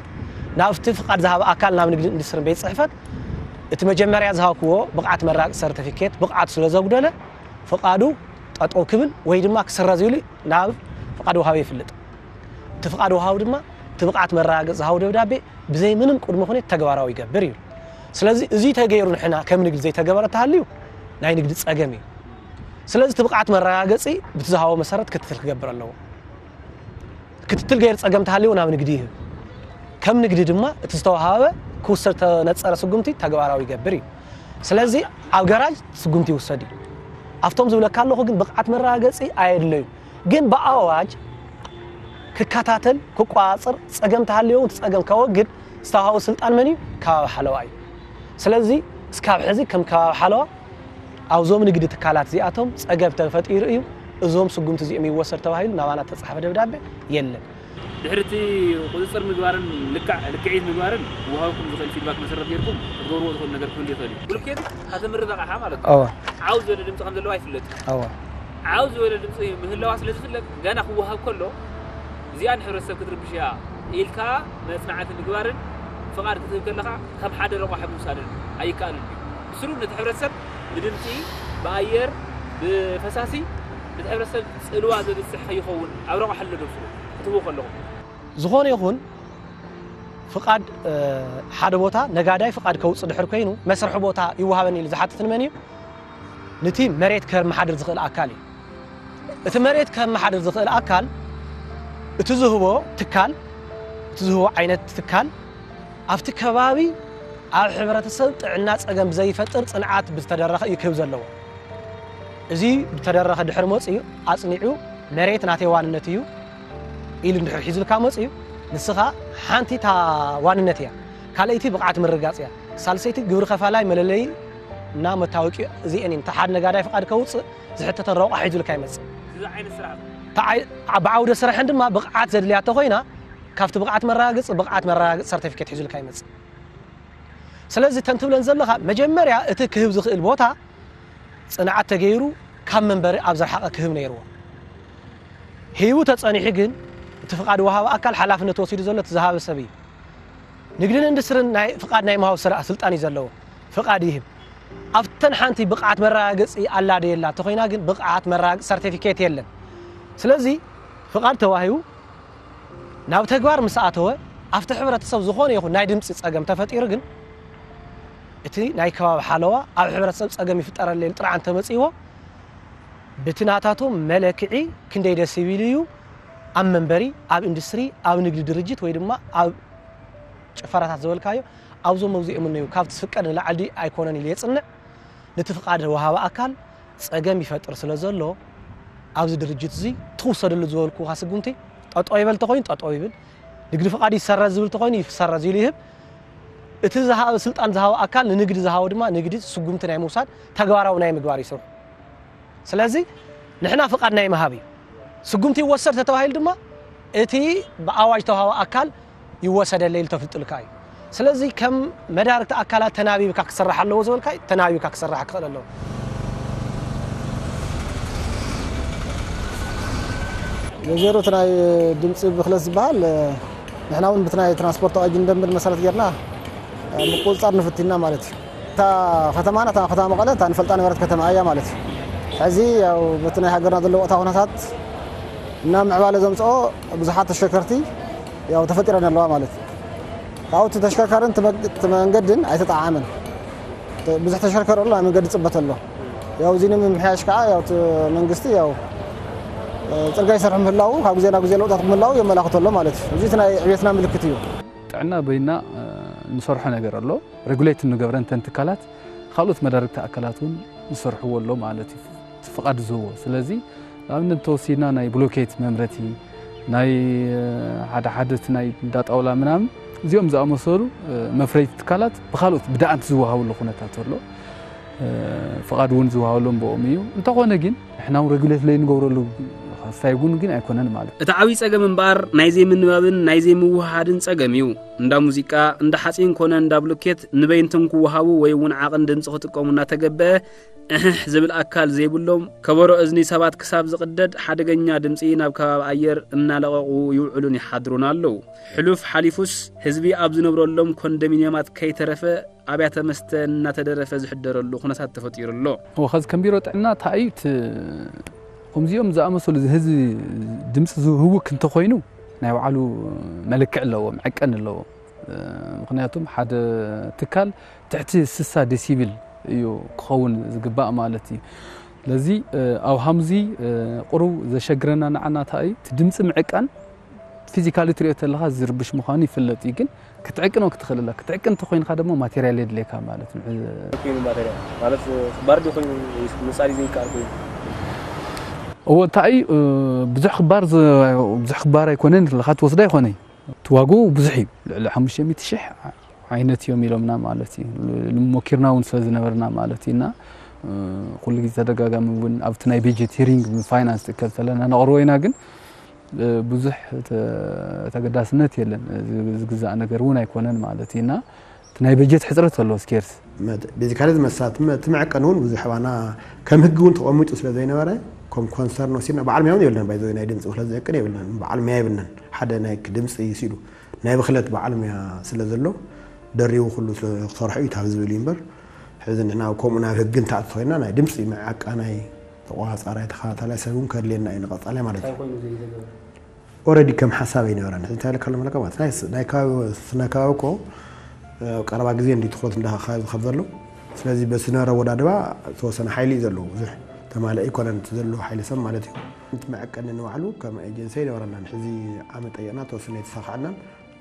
ናብቲ ፍቓድ ዝሃበ ኣካል ናብ ንግዲ ኢንዱስትሪን ቤት ፅሕፈት እቲ መጀመርያ ዝሃብክዎ ብቕዓት መራቂ ሰርቲፊኬት ብቕዓት ስለ ዘጉደለ ፍቓዱ ጠጠው ክብል ወይ ድማ ክስረዝ ኢሉ ናብ ፍቓድ ወሃቢ ይፍልጥ። እቲ ፍቓድ ወሃቢ ድማ እቲ ብቕዓት መረጋገፂ ዝሃቦ ደብዳቤ ብዘይ ምንም ቅድመ ኩነት ተግባራዊ ይገብር እዩ። ስለዚ እዚ ተገይሩ ንሕና ከም ንግዲ ዘይተገበረ ተሃልዩ ናይ ንግዲ ፀገም እዩ። ስለዚ እቲ ብቕዓት መረጋገፂ ብቲ ዝሃቦ መሰረት ክትትል ክገብር ኣለዎ። ክትትል ገይር ፀገም ተሃልዩ ናብ ንግዲ ይህብ። ከም ንግዲ ድማ እቲ ዝተወሃበ ክውሰድ ተነፀረ ስጉምቲ ተግባራዊ ይገብር እዩ። ስለዚ ኣብ ገራጅ ስጉምቲ ይውሰድ እዩ። ኣብቶም ዝብለካ ኣለኹ ግን ብቕዓት መረጋገፂ ኣየድለዩ። ግን ብኣዋጅ ክከታተል፣ ክቆፃፀር፣ ፀገም ተሃልዩ እውን እቲ ፀገም ከወግድ ዝተዋሃቡ ስልጣን መን እዩ? ከባቢ ሓለዋ እዩ። ስለዚ እስካብ ሕዚ ከም ከባቢ ሓለዋ ኣብዞም ንግዲ ትካላት እዚኣቶም ፀገም ተፈጢሩ እዩ፣ እዞም ስጉምቲ እዚኦም ይወሰድ ተባሂሉ ናባና ተፃሕፈ ደብዳቤ የለን። ድሕሪ እቲ ቁፅፅር ምግባርን ልክዕ ልክዒት ምግባርን ወሃብኩም ዝኽእል ፊድባክ መሰረት ጌርኩም ክትገብርዎ ትኽእሉ ነገር ክህሉ ይኽእል እዩ። ብሎኬት ከተምርት ኣቕሓ ማለት እዩ። እወ ዓው ዝበለ ድምፂ ከም ዘለዎ ኣይፍለጥ። እወ ዓው ዝበለ ድምፂ ምህላዋ ስለ ዝፍለጥ ገና ክወሃብ ከሎ እዚኣ ንሕብረተሰብ ክትርብሽ እያ ኢልካ መፅናዕቲ ምግባርን ፍቓድ ክትህብ ከለኻ ከም ሓደ ረቋሒ ምውሳድን ኣይከኣልን እዩ። ብስሩ ነቲ ሕብረተሰብ ብድምፂ ብኣየር ብፈሳሲ ነቲ ሕብረተሰብ ፅልዋ ዘብፅሕ ከይኸውን ኣብ ረቋሒ ኣሎ ደብስሩ ክትህቡ ከለኹም ዝኾነ ይኹን ፍቓድ ሓደ ቦታ ነጋዳይ ፍቓድ ከውፅእ ድሕር ኮይኑ መስርሒ ቦታ ይወሃበኒ ኢሉ ዝሓትት ንመን እዩ? ንቲ መሬት ከመሓድር ዝኽእል ኣካል እዩ። እቲ መሬት ከመሓድር ዝኽእል ኣካል እቲ ዝህቦ ትካል እቲ ዝህቦ ዓይነት ትካል ኣብቲ ከባቢ ኣብ ሕብረተሰብ ጥዕና ፀገም ብዘይፈጥር ፅንዓት ብዝተደረኸ እዩ ክህብ ዘለዎ። እዚ ብተደረኸ ድሕር መፅኡ ኣፅኒዑ መሬት ናተይ ዋንነት እዩ ኢሉ እንድሕር ሒዙልካ መፅኡ ንስኻ ሓንቲ እታ ዋንነት እያ፣ ካልኣይቲ ብቕዓት ምርጋፅ እያ፣ ሳልሰይቲ ግብሪ ከፋላይ መለለይ እና መታወቂ እዚአን እየን። እታ ሓደ ነጋዳይ ፍቓድ ከውፅእ ዝሕተተን ረቋ ሒዙልካ ይመፅእ። እዚ ዓይነት ስራሕ ተዓይ- ብዓውደ ስራሕን ድማ ብቕዓት ዘድልያ ተኮይና ካብቲ ብቕዓት መረጋገፂ ብቕዓት መረጋገፂ ሰርቲፊኬት ሒዙልካ ይመፅእ። ስለዚ ተንትብለን ዘለኻ መጀመርያ እቲ ክህብ ዝኽእል ቦታ ፅንዓት ተገይሩ ካብ መንበሪ ኣብ ዝረሓቐ ክህብ ነይርዎ። ሂቡ ተፀኒሑ ግን እቲ ፍቓድ ወሃቢ ኣካል ሓላፍነት ወሲዱ ዘሎ እቲ ዝሃበ ሰብ እዩ። ንግድን ኢንዱስትርን ናይ ፍቓድ ናይ ምሃብ ስራ ስልጣን እዩ ዘለዎ። ፍቓድ ይህብ። ኣብተን ሓንቲ ብቕዓት መረጋገፂ ኣላ ዶ የላ ተኮይና ግን ብቕዓት መረጋገፂ ሰርቲፊኬት የለን። ስለዚ ፍቓድ ተዋሂቡ ናብ ተግባር ምስ ኣተወ ኣብቲ ሕብረተሰብ ዝኾነ ይኹን ናይ ድምፂ ፀገም ተፈጢሩ ግን እቲ ናይ ከባቢ ሓለዋ ኣብ ሕብረተሰብ ፀገም ይፍጠረለይ ጥርዓን ተመፅዎ ብቲ ናታቶም መለክዒ ክንደይ ደሲቢል እዩ ኣብ መንበሪ ኣብ ኢንዱስትሪ ኣብ ንግዲ ድርጅት ወይ ድማ ኣብ ጭፈራታት ዝበልካዮ ኣብዞም መውዚኦም እነዩ ካብቲ ዝፍቀድ ንላዕሊ ድዩ ኣይኮነን ኢሉ የፅንዕ። ነቲ ፍቓድ ወሃቢ ኣካል ፀገም ይፈጥር ስለ ዘሎ ኣብዚ ድርጅት እዚ ትውሰደሉ ዝበልኩኻ ስጉምቲ ጠጠው ይበል ተኾይኑ ጠጠው ይብል፣ ንግዲ ፍቓድ ይሰረዝ ዝብል ተኾይኑ ይሰረዝ ኢሉ ይህብ። እቲ ዝሃበ ስልጣን ዝሃበ ኣካል ንንግዲ ዝሃቦ ድማ ንግዲ ስጉምቲ ናይ ምውሳድ ተግባራዊ ናይ ምግባር ይሰርሑ። ስለዚ ንሕና ፍቓድ ናይ ምሃብ እዩ። ስጉምቲ ይወሰድ ተተባሂሉ ድማ እቲ ብኣዋጅ ተዋሃቢ ኣካል ይወሰደለይ ኢሉ ተፍልጥልካ እዩ። ስለዚ ከም መዳርግቲ ኣካላት ተናቢብካ ክስራሕ ኣለዎ ዝበልካ እዩ፣ ተናቢብካ ክስራሕ ክኽእል ኣለዎ። ዜሮ እቲ ናይ ድምፂ ብክለት ዝበሃል ንሕና እውን ብቲ ናይ ትራንስፖርት ኣዋጅ ደንብን መሰረት ጌርና ምቁፅፃር ንፍቲና ማለት እዩ። እታ ከተማና እታ ከተማ መቐለ እታ ንፈልጣ ነበረት ከተማ እያ ማለት እዩ። ሕዚ ያው በቲ ናይ ሃገርና ዘሎ ወቕታ ኩነታት እና ምዕባለ ዘምፅኦ ብዙሓት ተሽከርከርቲ ያው ተፈጢረን ኣለዋ ማለት እዩ። ካብኡ እቲ ተሽከርካርን እቲ መግ- እቲ መንገድን ኣይተጠዓዓመን። ብዙሕ ተሽከርከር ኣሎ፣ ናይ መንገዲ ፅበት ኣሎ። ያው እዚ ንምምሕያሽ ከዓ ያው እቲ መንግስቲ ያው ፅርግያ ይሰርሑ ምህላው ካብ ግዜ ናብ ግዜ ለውጣት ምህላው የመላኽቶ ኣሎ ማለት እዩ። እዚ እቲ ናይ ዕቤትና ምልክት እዩ። ጥዕና በይና ንሰርሖ ነገር ኣሎ። ሬጉሌት እንገብረን ተን ትካላት ካልኦት መዳርግቲ ኣካላት እውን ዝሰርሕዎ ኣሎ ማለት እዩ። እቲ ፍቓድ ዝህቦ ስለዚ ንኣብነት እንተወሲድና ናይ ብሎኬት መምረቲ ናይ ሓደ ሓደ እቲ ናይ እንዳ ጣውላ ምናምን እዚኦም ዝኣመሰሉ መፍረይቲ ትካላት ብካልኦት ብደኣንት ዝወሃብሉ ኩነታት ኣሎ። ፍቓድ እውን ዝወሃበሎም ብኦም እዩ። እንተኾነ ግን ንሕና እውን ሬጉሌት ለይንገብረሉ ክስታይ እውን ግን ኣይኮነን ማለት እዩ። እቲ ዓብዪ ጸገም እምበኣር ናይ ዘይምንባብን ናይ ዘይምውህሃድን ጸገም እዩ። እንዳ ሙዚቃ፣ እንዳ ሓጺን ኮነ እንዳ ብሎኬት ንበይንቶም ክወሃቡ ወይ እውን ዓቕን ድምጺ ክጥቀሙ እናተገበአ እሕሕ ዝብል ኣካል ዘይብሎም፣ ከበሮ እዝኒ ሰባት ክሳብ ዝቕደድ ሓደገኛ ድምጺ ናብ ከባቢ ኣየር እናለቐቑ ይውዕሉን ይሓድሩን ኣለዉ። ሕሉፍ ሓሊፉስ ህዝቢ ኣብ ዝነብረሎም ኮንዶሚንየማት ከይተረፈ ኣብያተ መስተ እናተደረፈ ዝሕደረሉ ኩነታት ተፈጢሩ ኣሎ። እወ፣ ከዚ ከም ቢሮ ጥዕና እንታይ እዩ እቲ ከምዚኦም ዝኣመሰሉ ህዝቢ ድምፂ ዝህውክ እንተኾይኑ ናይ ባዕሉ መለክዕ ኣለዎ፣ መዐቀኒ ኣለዎ። ምኽንያቱም ሓደ ትካል ትሕቲ ስሳ ዴሲብል እዩ ክኸውን ዝግባእ ማለት እዩ። ስለዚ ኣብ ሃምዚ ቁሩብ ዘሸግረና ንዓና እንታይ እዩ እቲ ድምፂ ምዕቃን ፊዚካሊ ትሪኦ ተለኻ ዝርብሽ ምዃኑ ይፍለጥ እዩ። ግን ክትዕቅኖ ክትኽእል ኣለካ። ክትዕቅን እንተኾይንካ ድማ ማቴሪያል የድልየካ ማለት ነው። ኮይኑ ማቴሪያል ማለት ባርዲ ኮይኑ ወይስ ምጻሪ ዘይከኣል ኮይኑ? እዎ እንታይ እዩ ብዙሕ ክባር ብዙሕ ክባር ኣይኮነን፣ ለኻ ትወስዳ ኣይኮነይ። እቲ ዋግኡ ብዙሕ እዩ። ልዕሊ ሓሙሽተ ሚእቲ ሽሕ ዓይነት እዮም ኢሎምና ማለት እዩ። ሞኪርና እውን ስለ ዝነበርና ማለት እዩ። እና ኩሉ ግዜ ተደጋጋሚ እውን ኣብቲ ናይ ቤጀት ሂሪንግ ፋይናንስ ትከል ተለና ነቕርቦ ኢና። ግን ብዙሕ ተገዳስነት የለን። ዝግዛእ ነገር እውን ኣይኮነን ማለት እዩ። እና እቲ ናይ በጀት ሕፅረት ኣሎ ስኬርስ። ቤዚካሊ ዝመሳት እቲ መዐቀኒ እውን ብዙሕ ባና ከም ህጊ እውን ተቐሚጡ ስለ ዘይነበረ ከም ኮንሰርን ወሲድና በዓል ሚያ እውን የብልናን። ባይዘ ናይ ድምፂ ብክለት ዘዕቅን የብልናን። በዓል ሚያ የብልናን። ሓደ ናይ ድምፂ ሲሉ ናይ ብክለት በዓል ሚያ ስለ ዘሎ ደሪቡ ኩሉ ክሰርሖ እዩ ታብ ዝብል እዩ እምበር ሕዚ ንሕና ከምኡ ናብ ህጊ እንተኣቲ ኮይና ናይ ድምፂ መዓቃናይ ተቋፃራይ ተኸታታላይ ሰብ እውን ከድልየና እዩ ንቐፃላይ ማለት እዩ። ኦረዲ ከም ሓሳብ ኣይነበረን። እንታይ ኢልካ ኣሎ መለካ ማለት ናይ ስ- ናይ ከባቢ ስነ ከባቢ እኮ ኣብ ቀረባ ግዜ እንዲ ትኩረት እንዳካባቢ ዝኸብ ዘሎ። ስለዚ በስነ ረወዳድባ ዝተወሰነ ሓይሊ እዩ ዘለዎ። ብዙሕ ተማልአ ኣይኮነን እቲ ዘለዎ ሓይሊ ሰብ ማለት እዩ። እቲ መዐቀኒ ንባዕሉ ከም ኤጀንሲ ኣይነበረናን። ሕዚ ዓመት ጠየቕና ተወሰነ የተሳኽዐናን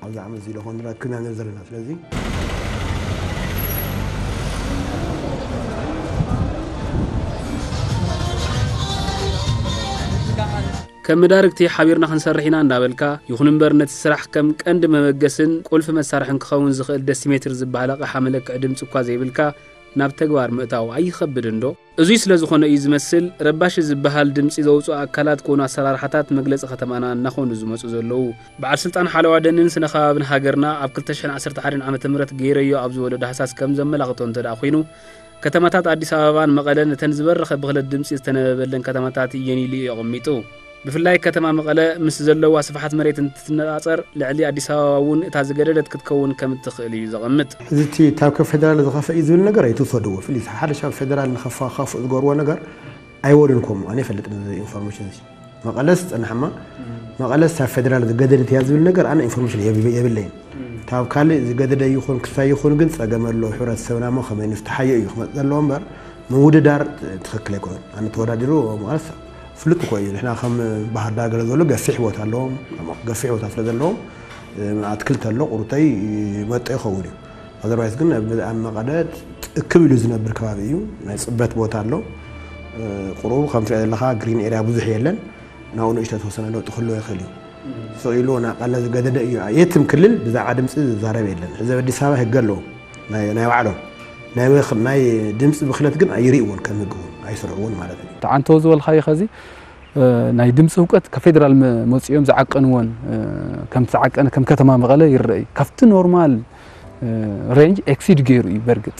ኣብዚ ዓመት እዚ ለኾን ረክብና ንር ዘለና። ስለዚ ከም መዳርግቲ ሓቢርና ክንሰርሕ ኢና እንዳበልካ፣ ይኹን እምበር ነቲ ስራሕ ከም ቀንዲ መበገስን ቁልፊ መሳርሕን ክኸውን ዝኽእል ደሲሜትር ዝበሃል ኣቕሓ መለክዒ ድምፂ እኳ ዘይብልካ ናብ ተግባር ምእታው ኣይኸብድን ዶ? እዙይ ስለ ዝኾነ እዩ ዝመስል ረባሺ ዝበሃል ድምፂ ዘውፅኡ ኣካላት ኮኑ ኣሰራርሓታት መግለፂ ከተማና እናኾኑ ዝመፁ ዘለዉ። በዓል ስልጣን ሓለዋ ደንን ስነ ከባብን ሃገርና ኣብ ክልተ ሽሕን ዓሰርተ ሓደን ዓመተ ምህረት ገይረዮ ኣብ ዝበሎ ዳህሳስ ከም ዘመላኽቶ እንተ ደኣ ኮይኑ፣ ከተማታት ኣዲስ ኣበባን መቐለን እተን ዝበረኸ ብኽለት ድምፂ ዝተነበበለን ከተማታት እየን ኢሉ እዩ ኣቐሚጡ። ብፍላይ ከተማ መቐለ ምስ ዘለዋ ስፍሓት መሬት እንትትነፃፀር ልዕሊ ኣዲስ ኣበባ እውን እታ ዝገደደት ክትከውን ከም እትኽእል እዩ ዘቐምጥ። እዚ እቲ ካብ ከ ፌደራል ዝኸፈ እዩ ዝብል ነገር ኣይትውሰድዎ። ፍሊ ሓደ ሻብ ፌደራል ንኸፋ ከፍ ዝገርዎ ነገር ኣይወድን ኮም ኣነ ይፈልጥ ነዚ ኢንፎርሜሽን እዚ መቐለስ ጸናሕማ መቐለስ ካብ ፌደራል ዝገደደት እያ ዝብል ነገር ኣነ ኢንፎርሜሽን የብለይን። ካብ ካልእ ዝገደደ ይኹን ክሳይ ይኹን ግን ጸገም ኣሎ። ሕብረተሰብና ሞ ከመይ ንፍትሓዮ እዩ ክመጽእ ዘለዎ እምበር ምውድዳር ትኽክል ኣይኮነን። ኣነ ተወዳዲሩ መቐለስ ፍሉጥ እኮ እዩ። ንሕና ከም ባህር ዳር ገለ ዘሎ ገፊሕ ቦታ ኣለዎም። ገፊሕ ቦታ ስለ ዘለዎም ኣትክልቲ ኣሎ ቁሩተይ መጦ ይኸውን እዩ። ኣዘርባይስ ግን ኣብ መቐለ እክብ ኢሉ ዝነብር ከባቢ እዩ። ናይ ፅበት ቦታ ኣሎ። ቁሩብ ከም ትሪኦ ዘለኻ ግሪን ኤርያ ብዙሕ የለን። ናብኡ ንእሽቶ ተወሰነ ለውጢ ክህልዎ ይኽእል እዩ። ስቕ ኢሉ ናቐለ ዝገደደ እዩ። የትም ክልል ብዛዕባ ድምፂ ዝዛረብ የለን። ሕዚ ኣብ ኣዲስ ኣበባ ህገ ኣለዎ ናይ ባዕሎም ናይ ድምፂ ብክለት ግን ኣይርእይዎን ከም ህግ እውን ኣይስርዕዎን ማለት እዩ። ተዓንተው ዝበልካዮ ከዚ ናይ ድምፂ ህውቀት ከፌደራል መፅኦም ዝዓቀንዎን ከም ዝተዓቀነ ከም ከተማ መቐለ ይረአ እዩ። ካብቲ ኖርማል ሬንጅ ኤክሲድ ገይሩ እዩ በርግጥ።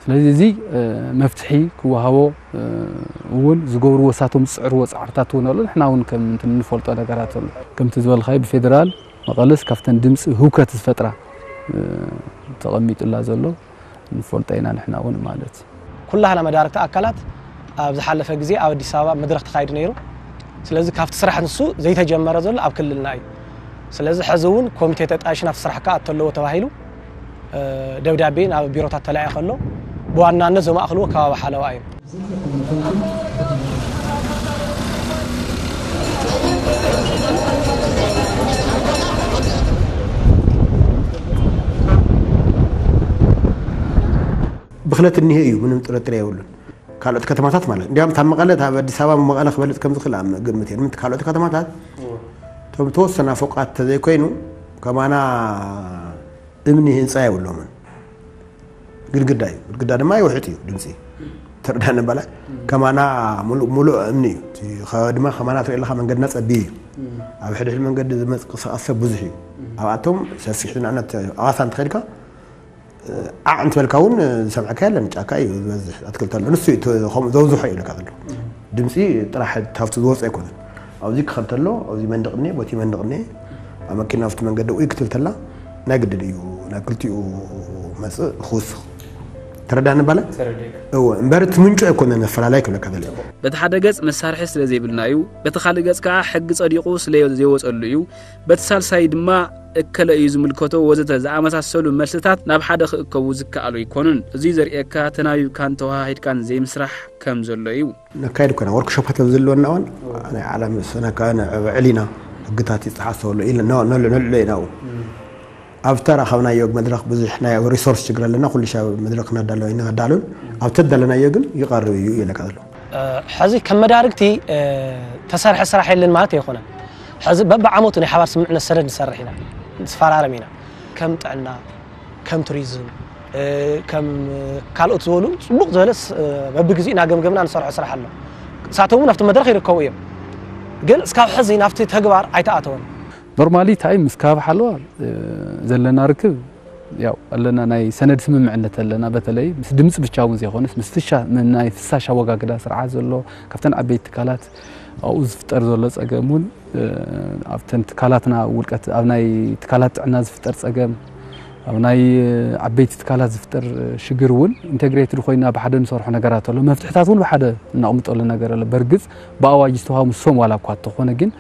ስለዚ እዚ መፍትሒ ክወሃቦ እውን ዝገብርዎ እሳቶም ዝፅዕርዎ ፃዕርታት እውን ኣሎ። ንሕና እውን ከም እንትን እንፈልጦ ነገራት ኣሎ። ከምቲ ዝበልካዮ ብፌደራል መቐለስ ካብተን ድምፂ ህውከት ዝፈጥራ ተቐሚጡላ ዘሎ ንፈልጦ ኢና ንሕና እውን ማለት እዩ። ኩላህና መዳርግቲ ኣካላት ኣብ ዝሓለፈ ግዜ ኣብ ኣዲስ ኣበባ መድረኽ ተኻይዱ ነይሩ። ስለዚ ካብቲ ስራሕ ንሱ ዘይተጀመረ ዘሎ ኣብ ክልልና እዩ። ስለዚ ሕዚ እውን ኮሚቴ ተጣይሹ ናብቲ ስራሕ ክኣቱ ኣለዎ ተባሂሉ ደብዳቤ ናብ ቢሮታት ተላኢኸ ኣሎ። ብዋናነት ዘማእኽልዎ ከባቢ ሓለዋ እዩ። ብኽለት እኒሀ እዩ፣ ምንም ጥርጥር የብሉን። ካልኦት ከተማታት ማለት እንዲያውም ታብ መቐለ ታብ ኣዲስ ኣበባ መቐለ ክበልፅ ከም ዝኽእል ኣብ ግምት እየ። ንምንት ካልኦት ከተማታት እቶም ተወሰና ፎቃት ተዘይኮይኑ ከማና እምኒ ህንፃ የብሎምን። ግድግዳ እዩ። ግድግዳ ድማ ይውሕጥ እዩ ድምፂ። ተረዳኒ በላይ። ከማና ሙሉእ ሙሉእ እምኒ እዩ። እቲ ከ-፣ ድማ ከማና ትርኢ ኣለኻ መንገድና ፀቢብ እዩ። ኣብ ሕድሕድ መንገዲ ዝመንቀሳቐስ ሰብ ብዙሕ እዩ። ኣብኣቶም ሰፊሕ ንኣብነት ኣዋሳ እንተኸድካ ዓዕ እንትበልካ እውን ዝሰምዐካ የለን። ጫካ እዩ ዝበዝሕ፣ ኣትክልቲ ኣሎ። ንሱ እዩ እቲ ከምኡ ዘውዝሖ እዩ ኢልካ ዘሎ። ድምፂ ጥራሕ ካብቲ ዝወፀ ኣይኮነን። ኣብዚ ክኸድ ተሎ፣ ኣብዚ መንደቕ እኒኤ፣ ቦቲ መንደቕ እኒኤ፣ ኣብ መኪና ኣብቲ መንገዲ ውይ ክትብል ተላ ናይ ግድን እዩ ናብ ክልቲኡ መፅእ ክውስኽ። ተረዳኒ ባለ? እወ፣ እምበር እቲ ምንጩ ኣይኮነን ኣፈላላይ ክብለካ ደለ። በቲ ሓደ ገጽ መሳርሒ ስለ ዘይብልና እዩ፣ በቲ ካልእ ገጽ ከኣ ሕጊ ጸዲቑ ስለ ዘይወጸሉ እዩ፣ በቲ ሳልሳይ ድማ እከለ እዩ ዝምልከቶ ወዘተ ዝኣመሳሰሉ መልስታት ናብ ሓደ ክእከቡ ዝከኣሉ ኣይኮኑን። እዙይ ዘርእየካ ተናቢብካን ተወሃሂድካን ዘይምስራሕ ከም ዘሎ እዩ። ነካይድ ኮና ወርክሾፓት ኣብ ዘለወና እዋን ናይ ዓለም ሰነካ ንዕብዕል ኢና ሕግታት ይጠሓሰሉ ኢለ ነልዕሎ ኢና። ኣብቲ ተረኸብናዮ መድረኽ ብዙሕ ናይ ሪሶርስ ችግር ኣለና። ኩሉ ሻብ መድረኽ ነዳሎ ኢና ነዳሉን ኣብቲ ተዳለናዮ ግን ይቐርብ እዩ ኢለካ ዘሎ። ሕዚ ከም መዳርግቲ ተሰርሐ ስራሕ የለን ማለት ኣይኮነን። ሕዚ በብዓመቱ ናይ ሓባር ስምምዕነት ሰነድ ንሰርሕ ኢና፣ ንፈራረም ኢና። ከም ጥዕና፣ ከም ቱሪዝም፣ ከም ካልኦት ዝበሉ ጽቡቕ ዝበለ በብግዜኡ እናገምገምና ንሰርሖ ስራሕ ኣሎ። እሳቶም እውን ኣብቲ መድረኽ ይርከቡ እዮም። ግን እስካብ ሕዚ ናብቲ ተግባር ኣይተኣተወን። ኖርማሊ እንታይ ምስ ከባቢ ሓለዋ ዘለና ርክብ ያው ኣለና ናይ ሰነድ ስምምዕነት ኣለና። በተለይ ምስ ድምፂ ብቻ እውን ዘይኮነስ ምስ ፍሻ ናይ ፍሳሽ ኣወጋግዳ ስርዓት ዘሎ ካብተን ዓበይቲ ትካላት ኣብኡ ዝፍጠር ዘሎ ፀገም እውን ኣብተን ትካላትና ውልቀት ኣብ ናይ ትካላት ጥዕና ዝፍጠር ፀገም ኣብ ናይ ዓበይቲ ትካላት ዝፍጠር ሽግር እውን ኢንተግሬትድ ኮይና ብሓደ ንሰርሖ ነገራት ኣሎ። መፍትሕታት እውን ብሓደ እነቕምጠሉ ነገር ኣሎ። በርግፅ ብኣዋጅ ዝተዋሃቡ ንሶም ዋላ እኳ እንተኾነ ግን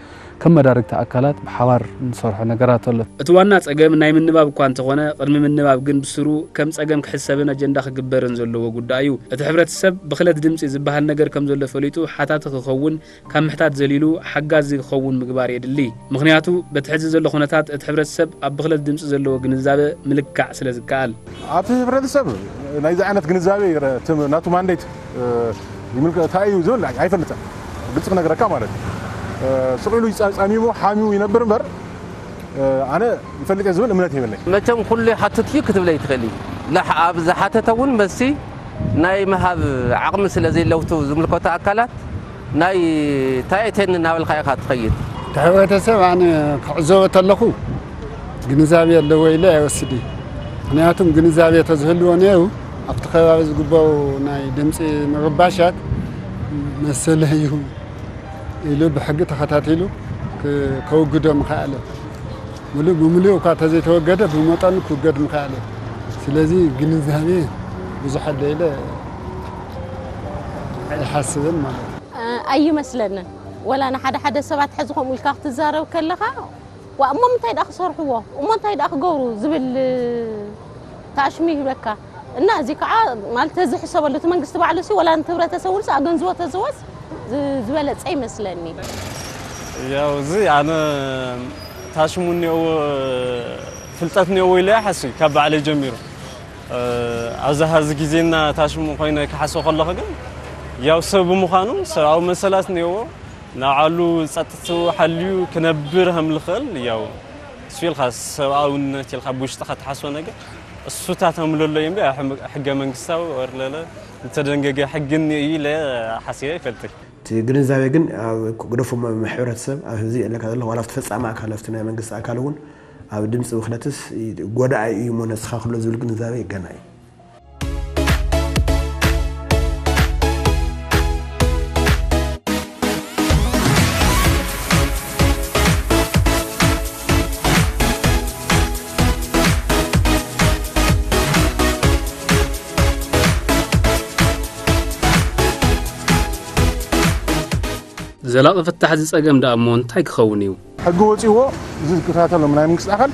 ከም መዳርግቲ ኣካላት ብሓባር ንሰርሖ ነገራት ኣሎ። እቲ ዋና ጸገም ናይ ምንባብ እኳ እንተኾነ፣ ቅድሚ ምንባብ ግን ብስሩ ከም ጸገም ክሕሰብን ኣጀንዳ ክግበርን ዘለዎ ጉዳይ እዩ። እቲ ሕብረተሰብ ብኽለት ድምጺ ዝበሃል ነገር ከም ዘሎ ፈሊጡ ሓታቲ ክኸውን፣ ካብ ምሕታት ዘሊሉ ሓጋዚ ክኸውን ምግባር የድሊ። ምኽንያቱ በቲ ሕዚ ዘሎ ኩነታት እቲ ሕብረተሰብ ኣብ ብኽለት ድምጺ ዘለዎ ግንዛበ ምልካዕ ስለ ዝከኣል። ኣብቲ ሕብረተሰብ ናይዚ ዓይነት ግንዛበ ናቱ ማንዴት ይምልከ እንታይ እዩ ዝብል ኣይፈልጥን። ግልፂ ክነግረካ ማለት እዩ። ስቕ ኢሉ ይፃ- ፃሚሙ ሓሚሙ ይነብር እምበር ኣነ ይፈልጥ እየ ዝብል እምነት የብለይ። መቸም ኩሉ ይሓትት እዩ ክትብል ኣይትኽእል እዩ። ላሕ ኣብ ዝሓተተ እውን መልሲ ናይ ምሃብ ዓቕሚ ስለ ዘይለውቱ ዝምልከቶ ኣካላት ናይ ታየቴን እናበልካ ኢኻ ትኸይድ። እቲ ሕብረተሰብ ኣነ ክዕዘቦ ተለኹ ግንዛቤ ኣለዎ ኢለ ኣይወስድ እዩ። ምክንያቱም ግንዛቤ ተዝህልዎ ነይሩ ኣብቲ ከባቢ ዝግበሩ ናይ ድምፂ ምርባሻት መሰለ እዩ ኢሉ ብሕጊ ተኸታቲሉ ከውግዶ ምኸኣለ። ሙሉእ ብሙሉእ እኳ ተዘይተወገደ ብመጠኑ ክውገድ ምኸኣለ። ስለዚ ግንዛቤ ብዙሕ ኣሎ ኢለ ኣይሓስብን ማለት እዩ። ኣይመስለንን። ወላ ንሓደ ሓደ ሰባት ሕዚ ከምኡ ኢልካ ክትዛረብ ከለኻ ዋ እሞ ምንታይ ደኣ ክሰርሕዎ እሞ እንታይ ደኣ ክገብሩ ዝብል ታሽሙ ይህበካ እና እዚ ከዓ ማለት ተዝሕሰበሉ እቲ መንግስቲ ባዕሉ ሲ ወላ ንህብረተሰቡ ንስ ኣገንዝቦ ተዝወስ ዝበለፀ ይመስለኒ። ያው እዚ ኣነ ታሽሙ እኒኦ ፍልጠት እኒኦ ኢለ ይሓስብ ካብ ባዕለይ ጀሚሩ ኣብዚ ሀዚ ግዜና ታሽሙ ኮይነ ክሓስብ ከለኹ ግን ያው ሰብ ብምዃኑ ሰብኣዊ መሰላት እኒኦዎ ንባዕሉ ጸጥትኡ ሓልዩ ክነብር ከም ዝኽእል ያው እሱ ኢልካ ሰብኣውነት ኢልካ ብውሽጥኻ ትሓስቦ ነገር እሱታት ከም ለሎ እዩ እምበር ሕገ መንግስታዊ ወር ለለ ዝተደንገገ ሕጊ እኒኦ እዩ ኢለ ሓሲበ ኣይፈልጥን። እቲ ግንዛቤ ግን ኣብ ግደፎ ሕብረተሰብ ኣብ ህዚ ኣለካ ዘለኻ ዋላ ኣብቲ ፈጻሚ ኣካል ኣብቲ ናይ መንግስቲ ኣካል እውን ኣብ ድምፂ ብኽለትስ ጎዳኢ እዩ እሞ ነስኻ ክሎ ዝብል ግንዛቤ ገና እዩ። ዘላቒ ፍታሕ እዚ ጸገም ደኣ እሞ እንታይ ክኸውን እዩ? ሕጊ ወጺእዎ እዚ ዝከታተሎም ናይ መንግስቲ ኣካል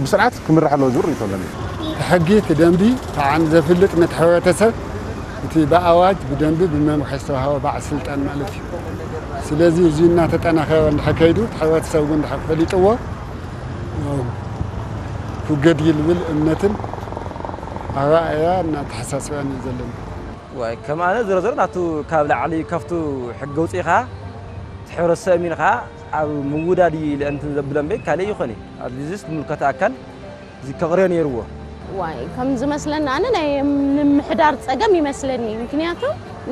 ብስርዓት ክምራሕ ኣለዎ ዝብል ርእይቶ ኣለኒ። እቲ ሕጊ፣ እቲ ደንቢ፣ እቲ ዓን ዘፍልጥ ነቲ ሕብረተሰብ እቲ ብኣዋጅ፣ ብደንቢ፣ ብመምርሒ ዝተዋህቦ በዓል ስልጣን ማለት እዩ። ስለዚ እዚ እናተጠናኸረ እንድሕር ከይዱ እቲ ሕብረተሰብ እውን እንድሕር ፈሊጥዎ ክውገድ እዩ ዝብል እምነትን ኣረኣእያን ኣተሓሳስባን እዩ ዘለኒ። ዋይ ከም ኣነ ዝሮ ዝሮ ናቱ ካብ ላዕሊ ካብቱ ሕጊ ኣውፂእኻ እቲ ሕብረተሰብ ኣሚንኻ ኣብ ምውዳድ እዩ ኢለ እንትን ዘብለ እምበይ ካልእ ይኾነ። ኣብዚ ዝምልከቶ ኣካል እዚ ከቕርዮ ነይርዎ። ዋይ፣ ከም ዝመስለኒ ኣነ ናይ ምምሕዳር ጸገም ይመስለኒ። ምክንያቱ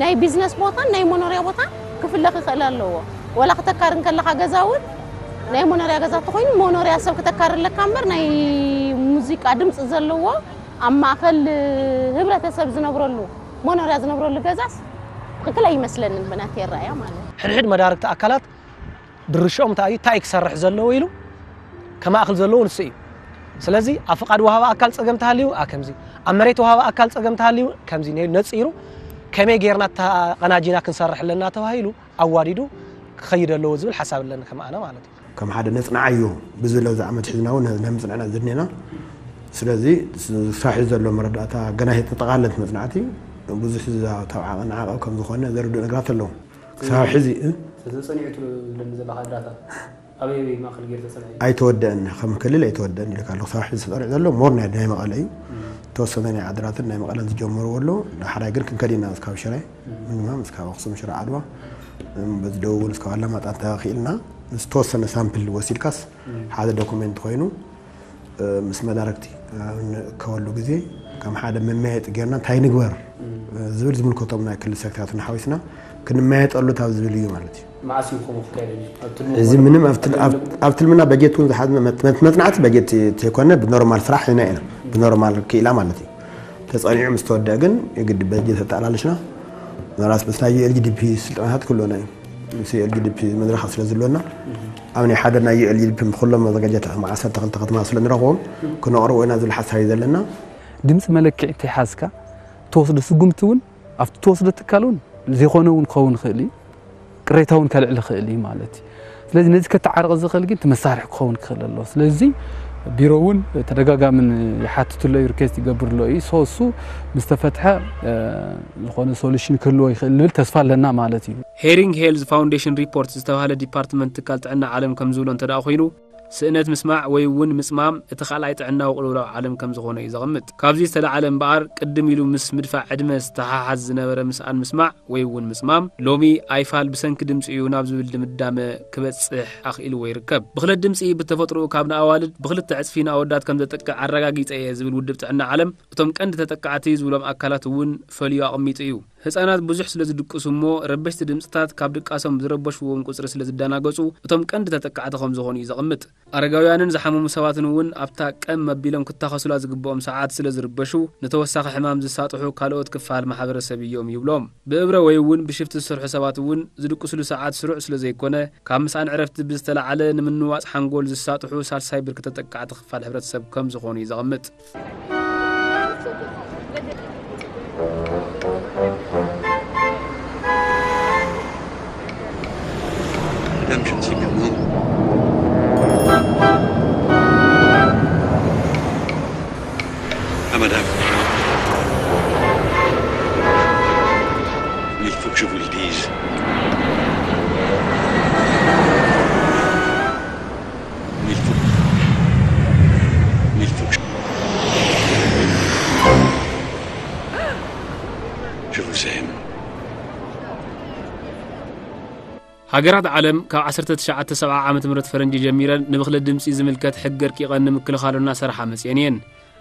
ናይ ቢዝነስ ቦታን ናይ መኖርያ ቦታ ክፍለኽ ይኽእል ኣለዎ። ወላ ክተካር እንከለኻ ገዛ እውን ናይ መኖርያ ገዛ ተኾይኑ መኖርያ ሰብ ክተካር ኣለካ እምበር ናይ ሙዚቃ ድምፂ ዘለዎ ኣብ ማእከል ህብረተሰብ ዝነብረሉ መኖርያ ዝነብረሉ ገዛስ ትኽክል ኣይመስለንን ብናተይ ኣረኣእያ ማለት እዩ። ሕድሕድ መዳርግቲ ኣካላት ድርሽኦም እንታይ እዩ፣ እንታይ እዩ ክሰርሕ ዘለዎ ኢሉ ከማእክል ዘለዎ ንሱ እዩ። ስለዚ ኣብ ፍቓድ ወሃቢ ኣካል ጸገም ተሃልዩ፣ ኣ፣ ከምዚ፣ ኣብ መሬት ወሃቢ ኣካል ጸገም ተሃልዩ፣ ከምዚ ነ-፣ ነጺሩ ከመይ ጌርና ተቐናጂና ክንሰርሕ ኣለና ተባሂሉ ኣዋዲዱ ክኸይድ ኣለዎ ዝብል ሓሳብ ኣለኒ ከም ኣነ ማለት እዩ። ከም ሓደ ነጽንዓዮ ብዝብለ ኣብዚ ዓመት ሒዝና እውን ነምጽንዕና ዝድኔና። ስለዚ ክሳብ ሕዚ ዘሎ መረዳእታ ገና ኣይተጠቓለለት መጽናዕቲ ብዙሕ ዝዛተው ዓቐን ዓቐብ ከም ዝኾነ ዘርድኡ ነገራት ኣለዉ። ክሳብ ሕዚ፣ እ? ስለዚ ጸኒዑ ትብለኒ ዘለኻ ድራታ ኣበይ ኣበይ ማእከል ገይሩ ተጸንዐ እዩ? ኣይተወደአን፣ ከም ክልል ኣይተወደአን ኢልካ ኣለኹ። ክሳብ ሕዚ ተጸኒዑ ዘሎ ሞር ናይ፣ ናይ መቐለ እዩ። እም። ተወሰነ ናይ ዓድራትን ናይ መቐለን ዝጀመርዎ ኣሎ። ንሓራይ ግን ክንከድ ኢና እስካብ ሽረ፣ እም። ምንማም እስካብ ኣኽሱም፣ ሽረ፣ ዓድዋ፣ እም፣ በዚ ደቡብ እውን እስካብ ኣላማጣ እንተኽኢልና ዝተወሰነ ሳምፕል ወሲድካስ እም። ሓደ ዶኩሜንት ኮይኑ፣ እ፣ ምስ መዳርግቲ ኣብ ንእከበሉ ግዜ ከም ሓደ መመያየጢ ጌርና እንታይ ንግበር፣ እም። እ፣ ዝብል ዝምልከቶም ናይ ክልል ሴክተራት እናሓዊስና ክንመያየጠሉ ካብ ዝብል እዩ ማለት እዩ። መዓስ እዩ ከምኡ ክካየድ? ኣብ ትልሚ እዚ ኮነ ምንም ኣብ ትል-፣ ኣብ ኣብ፣ ትልሚ ኣብ ትልምና በጀት እውን ዝሓዝና መት-፣ መት-፣ መጽናዕቲ በጀት ዘይኮነ ብኖርማል ስራሕ ኢና ኢና። ብኖርማል ክኢላ ማለት እዩ። ተጸኒዑ ምስ ተወደአ ግን የግድ በጀት ኣጠቓሊሽና ምናልባት ምስ ናይ ዩ ኤል ጂ ዲ ፒ ስልጠናታት ክህልወና እዩ። ምስ ዩ ኤል ጂ ዲ ፒ መድረኻት ስለ ዝህልወና ኣብ ናይ ሓደ ናይ ዩ ኤል ጂ ዲ ፒ ኩሎም መዘጋጃት ዓሰርተ ክልተ ከተማ ስለ ንረኽቦም ክነቕርቦ ኢና ዝብል ሓሳብ እዩ ዘለና። ድምፂ መለክዒ እንተይሓዝካ ትወስዶ ስጉምቲ እውን ኣብቲ ትወስዶ ትካል እውን ዘይኮነ እውን ክኸውን ይኽእል እዩ። ቅሬታ እውን ከልዕል ይኽእል እዩ ማለት እዩ። ስለዚ ነዚ ከተዓርቕ ዝኽእል ግን እቲ መሳርሒ ክኸውን ክኽእል ኣለዎ። ስለዚ ቢሮ እውን ተደጋጋምን ይሓትትሎ እዩ፣ ሪኩዌስት ይገብርሎ እዩ። ሶ እሱ ምስ ተፈትሐ፣ እ፣ ዝኾነ ሶሉሽን ክህልዎ ይኽእል ንብል ተስፋ ኣለና ማለት እዩ። ሄሪንግ ሄልዝ ፋውንዴሽን ሪፖርት ዝተባህለ ዲፓርትመንት ትካል ጥዕና ዓለም ከም ዝብሎ እንተ ደኣ ኮይኑ፣ ስእነት ምስማዕ ወይ እውን ምጽማም እቲ ካልኣይ ጥዕናዊ ቅልውላው ዓለም ከም ዝኾነ እዩ ዘቐምጥ። ካብዚ ዝተለዓለ እምበኣር፣ ቅድም ኢሉ ምስ ምድፋእ ዕድመ ዝተሓሓዝ ዝነበረ ምስኣን ምስማዕ ወይ እውን ምጽማም፣ ሎሚ ኣይፋል ብሰንኪ ድምጺ እዩ ናብ ዝብል ድምዳመ ክበጽሕ ኣኽኢልዎ ይርከብ። ብኽለት ድምጺ ብተፈጥሮኡ ካብ ንኣዋልድ ብኽልተ ዕጽፊ ንኣወዳት ከም ዘጥቅዕ ኣረጋጊጸ እየ ዝብል ውድብ ጥዕና ዓለም፣ እቶም ቀንዲ ተጠቃዕቲ ዝብሎም ኣካላት እውን ፈልዩ ኣቐሚጡ እዩ። ህጻናት ብዙሕ ስለ ዝድቅሱ እሞ ረበሽቲ ድምጽታት ካብ ድቃሶም ዝረበሽዎም ቁጽሪ ስለ ዝደናገጹ እቶም ቀንዲ ተጠቃዕቲ ከም ዝኾኑ እዩ ዘቐምጥ። ኣረጋውያንን ዝሓመሙ ሰባትን እውን ኣብታ ቀም ኣቢሎም ክታኸሱላ ዝግብኦም ሰዓት ስለ ዝርበሹ ንተወሳኺ ሕማም ዝሳጥሑ ካልኦት ክፋል ማሕበረሰብ እዮም ይብሎም። ብእብረ ወይ እውን ብሽፍቲ ዝሰርሑ ሰባት እውን ዝድቅስሉ ሰዓት ስሩዕ ስለ ዘይኮነ ካብ ምስኣን ዕረፍቲ ብዝተለዓለ ንምንዋጽ ሓንጎል ዝሳጥሑ ሳልሳይ ብርኪ ተጠቃዕቲ ክፋል ሕብረተሰብ ከም ዝኾኑ እዩ ዘቐምጥ። Madame, je ne sais plus où. Ah, madame. Mais il faut que je vous le dise. Mais il faut, mais il faut que je, je vous aime. ሃገራት ዓለም ካብ ዓሰርተ ትሽዓተ ሰብዓ ዓመተ ምህረት ፈረንጂ ጀሚረን ንብኽለት ድምጺ ዝምልከት ሕጊ ኣርቂቐን ንምክልኻሉ እናሰርሓ መጺአን እየን።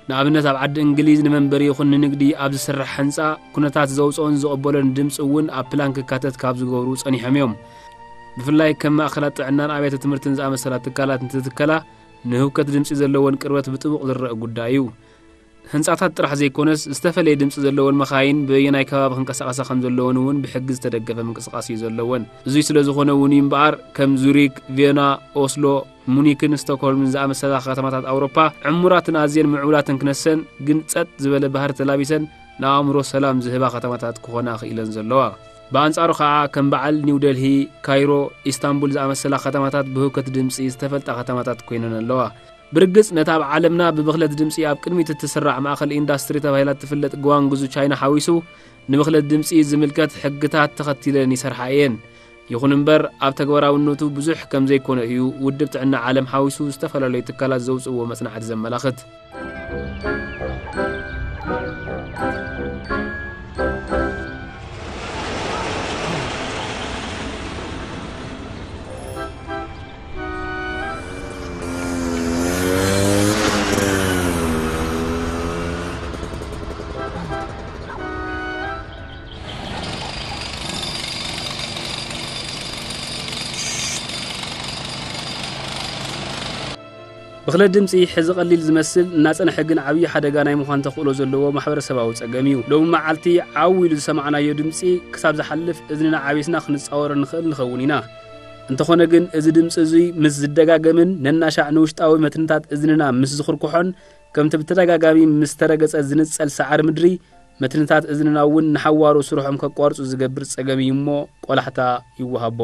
ንኣብነት ኣብ ዓዲ እንግሊዝ ንመንበሪ ይኹን ንንግዲ ኣብ ዝስራሕ ህንጻ ኩነታት ዘውጽኦን ዝቕበሎን ድምጺ እውን ኣብ ፕላን ክካተት ካብ ዝገብሩ ጸኒሖም እዮም። ብፍላይ ከም ማእከላት ጥዕናን ኣብያተ ትምህርትን ዝኣመሰላ ትካላት እንትትከላ ንህውከት ድምጺ ዘለወን ቅርበት ብጥቡቕ ዝረአ ጉዳይ እዩ። ህንጻታት ጥራሕ ዘይኮነስ ዝተፈለየ ድምጺ ዘለወን መኻይን በየናይ ከባቢ ክንቀሳቐሳ ከም ዘለወን እውን ብሕጊ ዝተደገፈ ምንቅስቓስ እዩ ዘለወን። እዙይ ስለ ዝኾነ እውን እዩ እምበኣር ከም ዙሪክ፣ ቬና፣ ኦስሎ፣ ሙኒክን ስቶክሆልምን ዝኣመሰላ ከተማታት ኣውሮፓ ዕሙራትን ኣዝየን ምዕቡላትን ክነሰን ግን ጸጥ ዝበለ ባህሪ ተላቢሰን ንኣእምሮ ሰላም ዝህባ ከተማታት ክኾና ክኢለን ዘለዋ። ብኣንጻሩ ኸኣ ከም በዓል ኒው ደልሂ፣ ካይሮ፣ ኢስታንቡል ዝኣመሰላ ከተማታት ብህውከት ድምጺ ዝተፈልጣ ከተማታት ኮይነን ኣለዋ። ብርግጽ ነታ ኣብ ዓለምና ብብኽለት ድምጺ ኣብ ቅድሚት እትስራዕ ማእከል ኢንዳስትሪ ተባሂላ እትፍለጥ ግዋንግዙ ቻይና ሓዊሱ ንብኽለት ድምጺ ዝምልከት ሕግታት ተኸቲለን ይሰርሓ እየን። ይኹን እምበር ኣብ ተግባራውነቱ ብዙሕ ከም ዘይኮነ እዩ ውድብ ጥዕና ዓለም ሓዊሱ ዝተፈላለዩ ትካላት ዘውጽእዎ መጽናዕቲ ዘመላኽት። ብኽለት ድምጺ ሕዚ ቀሊል ዝመስል እናጸንሐ ግን ዓብዪ ሓደጋ ናይ ምዃን ተኽእሎ ዘለዎ ማሕበረሰባዊ ጸገም እዩ። ሎሚ መዓልቲ ዓው ኢሉ ዝሰማዕናዮ ድምጺ ክሳብ ዝሓልፍ እዝንና ዓቢስና ክንጻወሮ ንኽእል ንኸውን ኢና። እንተኾነ ግን እዚ ድምጺ እዙይ ምስ ዝደጋገምን ነናሻዕ ንውሽጣዊ መትንታት እዝንና ምስ ዝኽርኩሖን ከምቲ ብተደጋጋሚ ምስ ተረገጸ ዝንጸል ሰዓሪ ምድሪ መትንታት እዝንና እውን ንሓዋሩ ስርሖም ከቋርጹ ዝገብር ጸገም እዩ እሞ ቆላሕታ ይወሃቦ።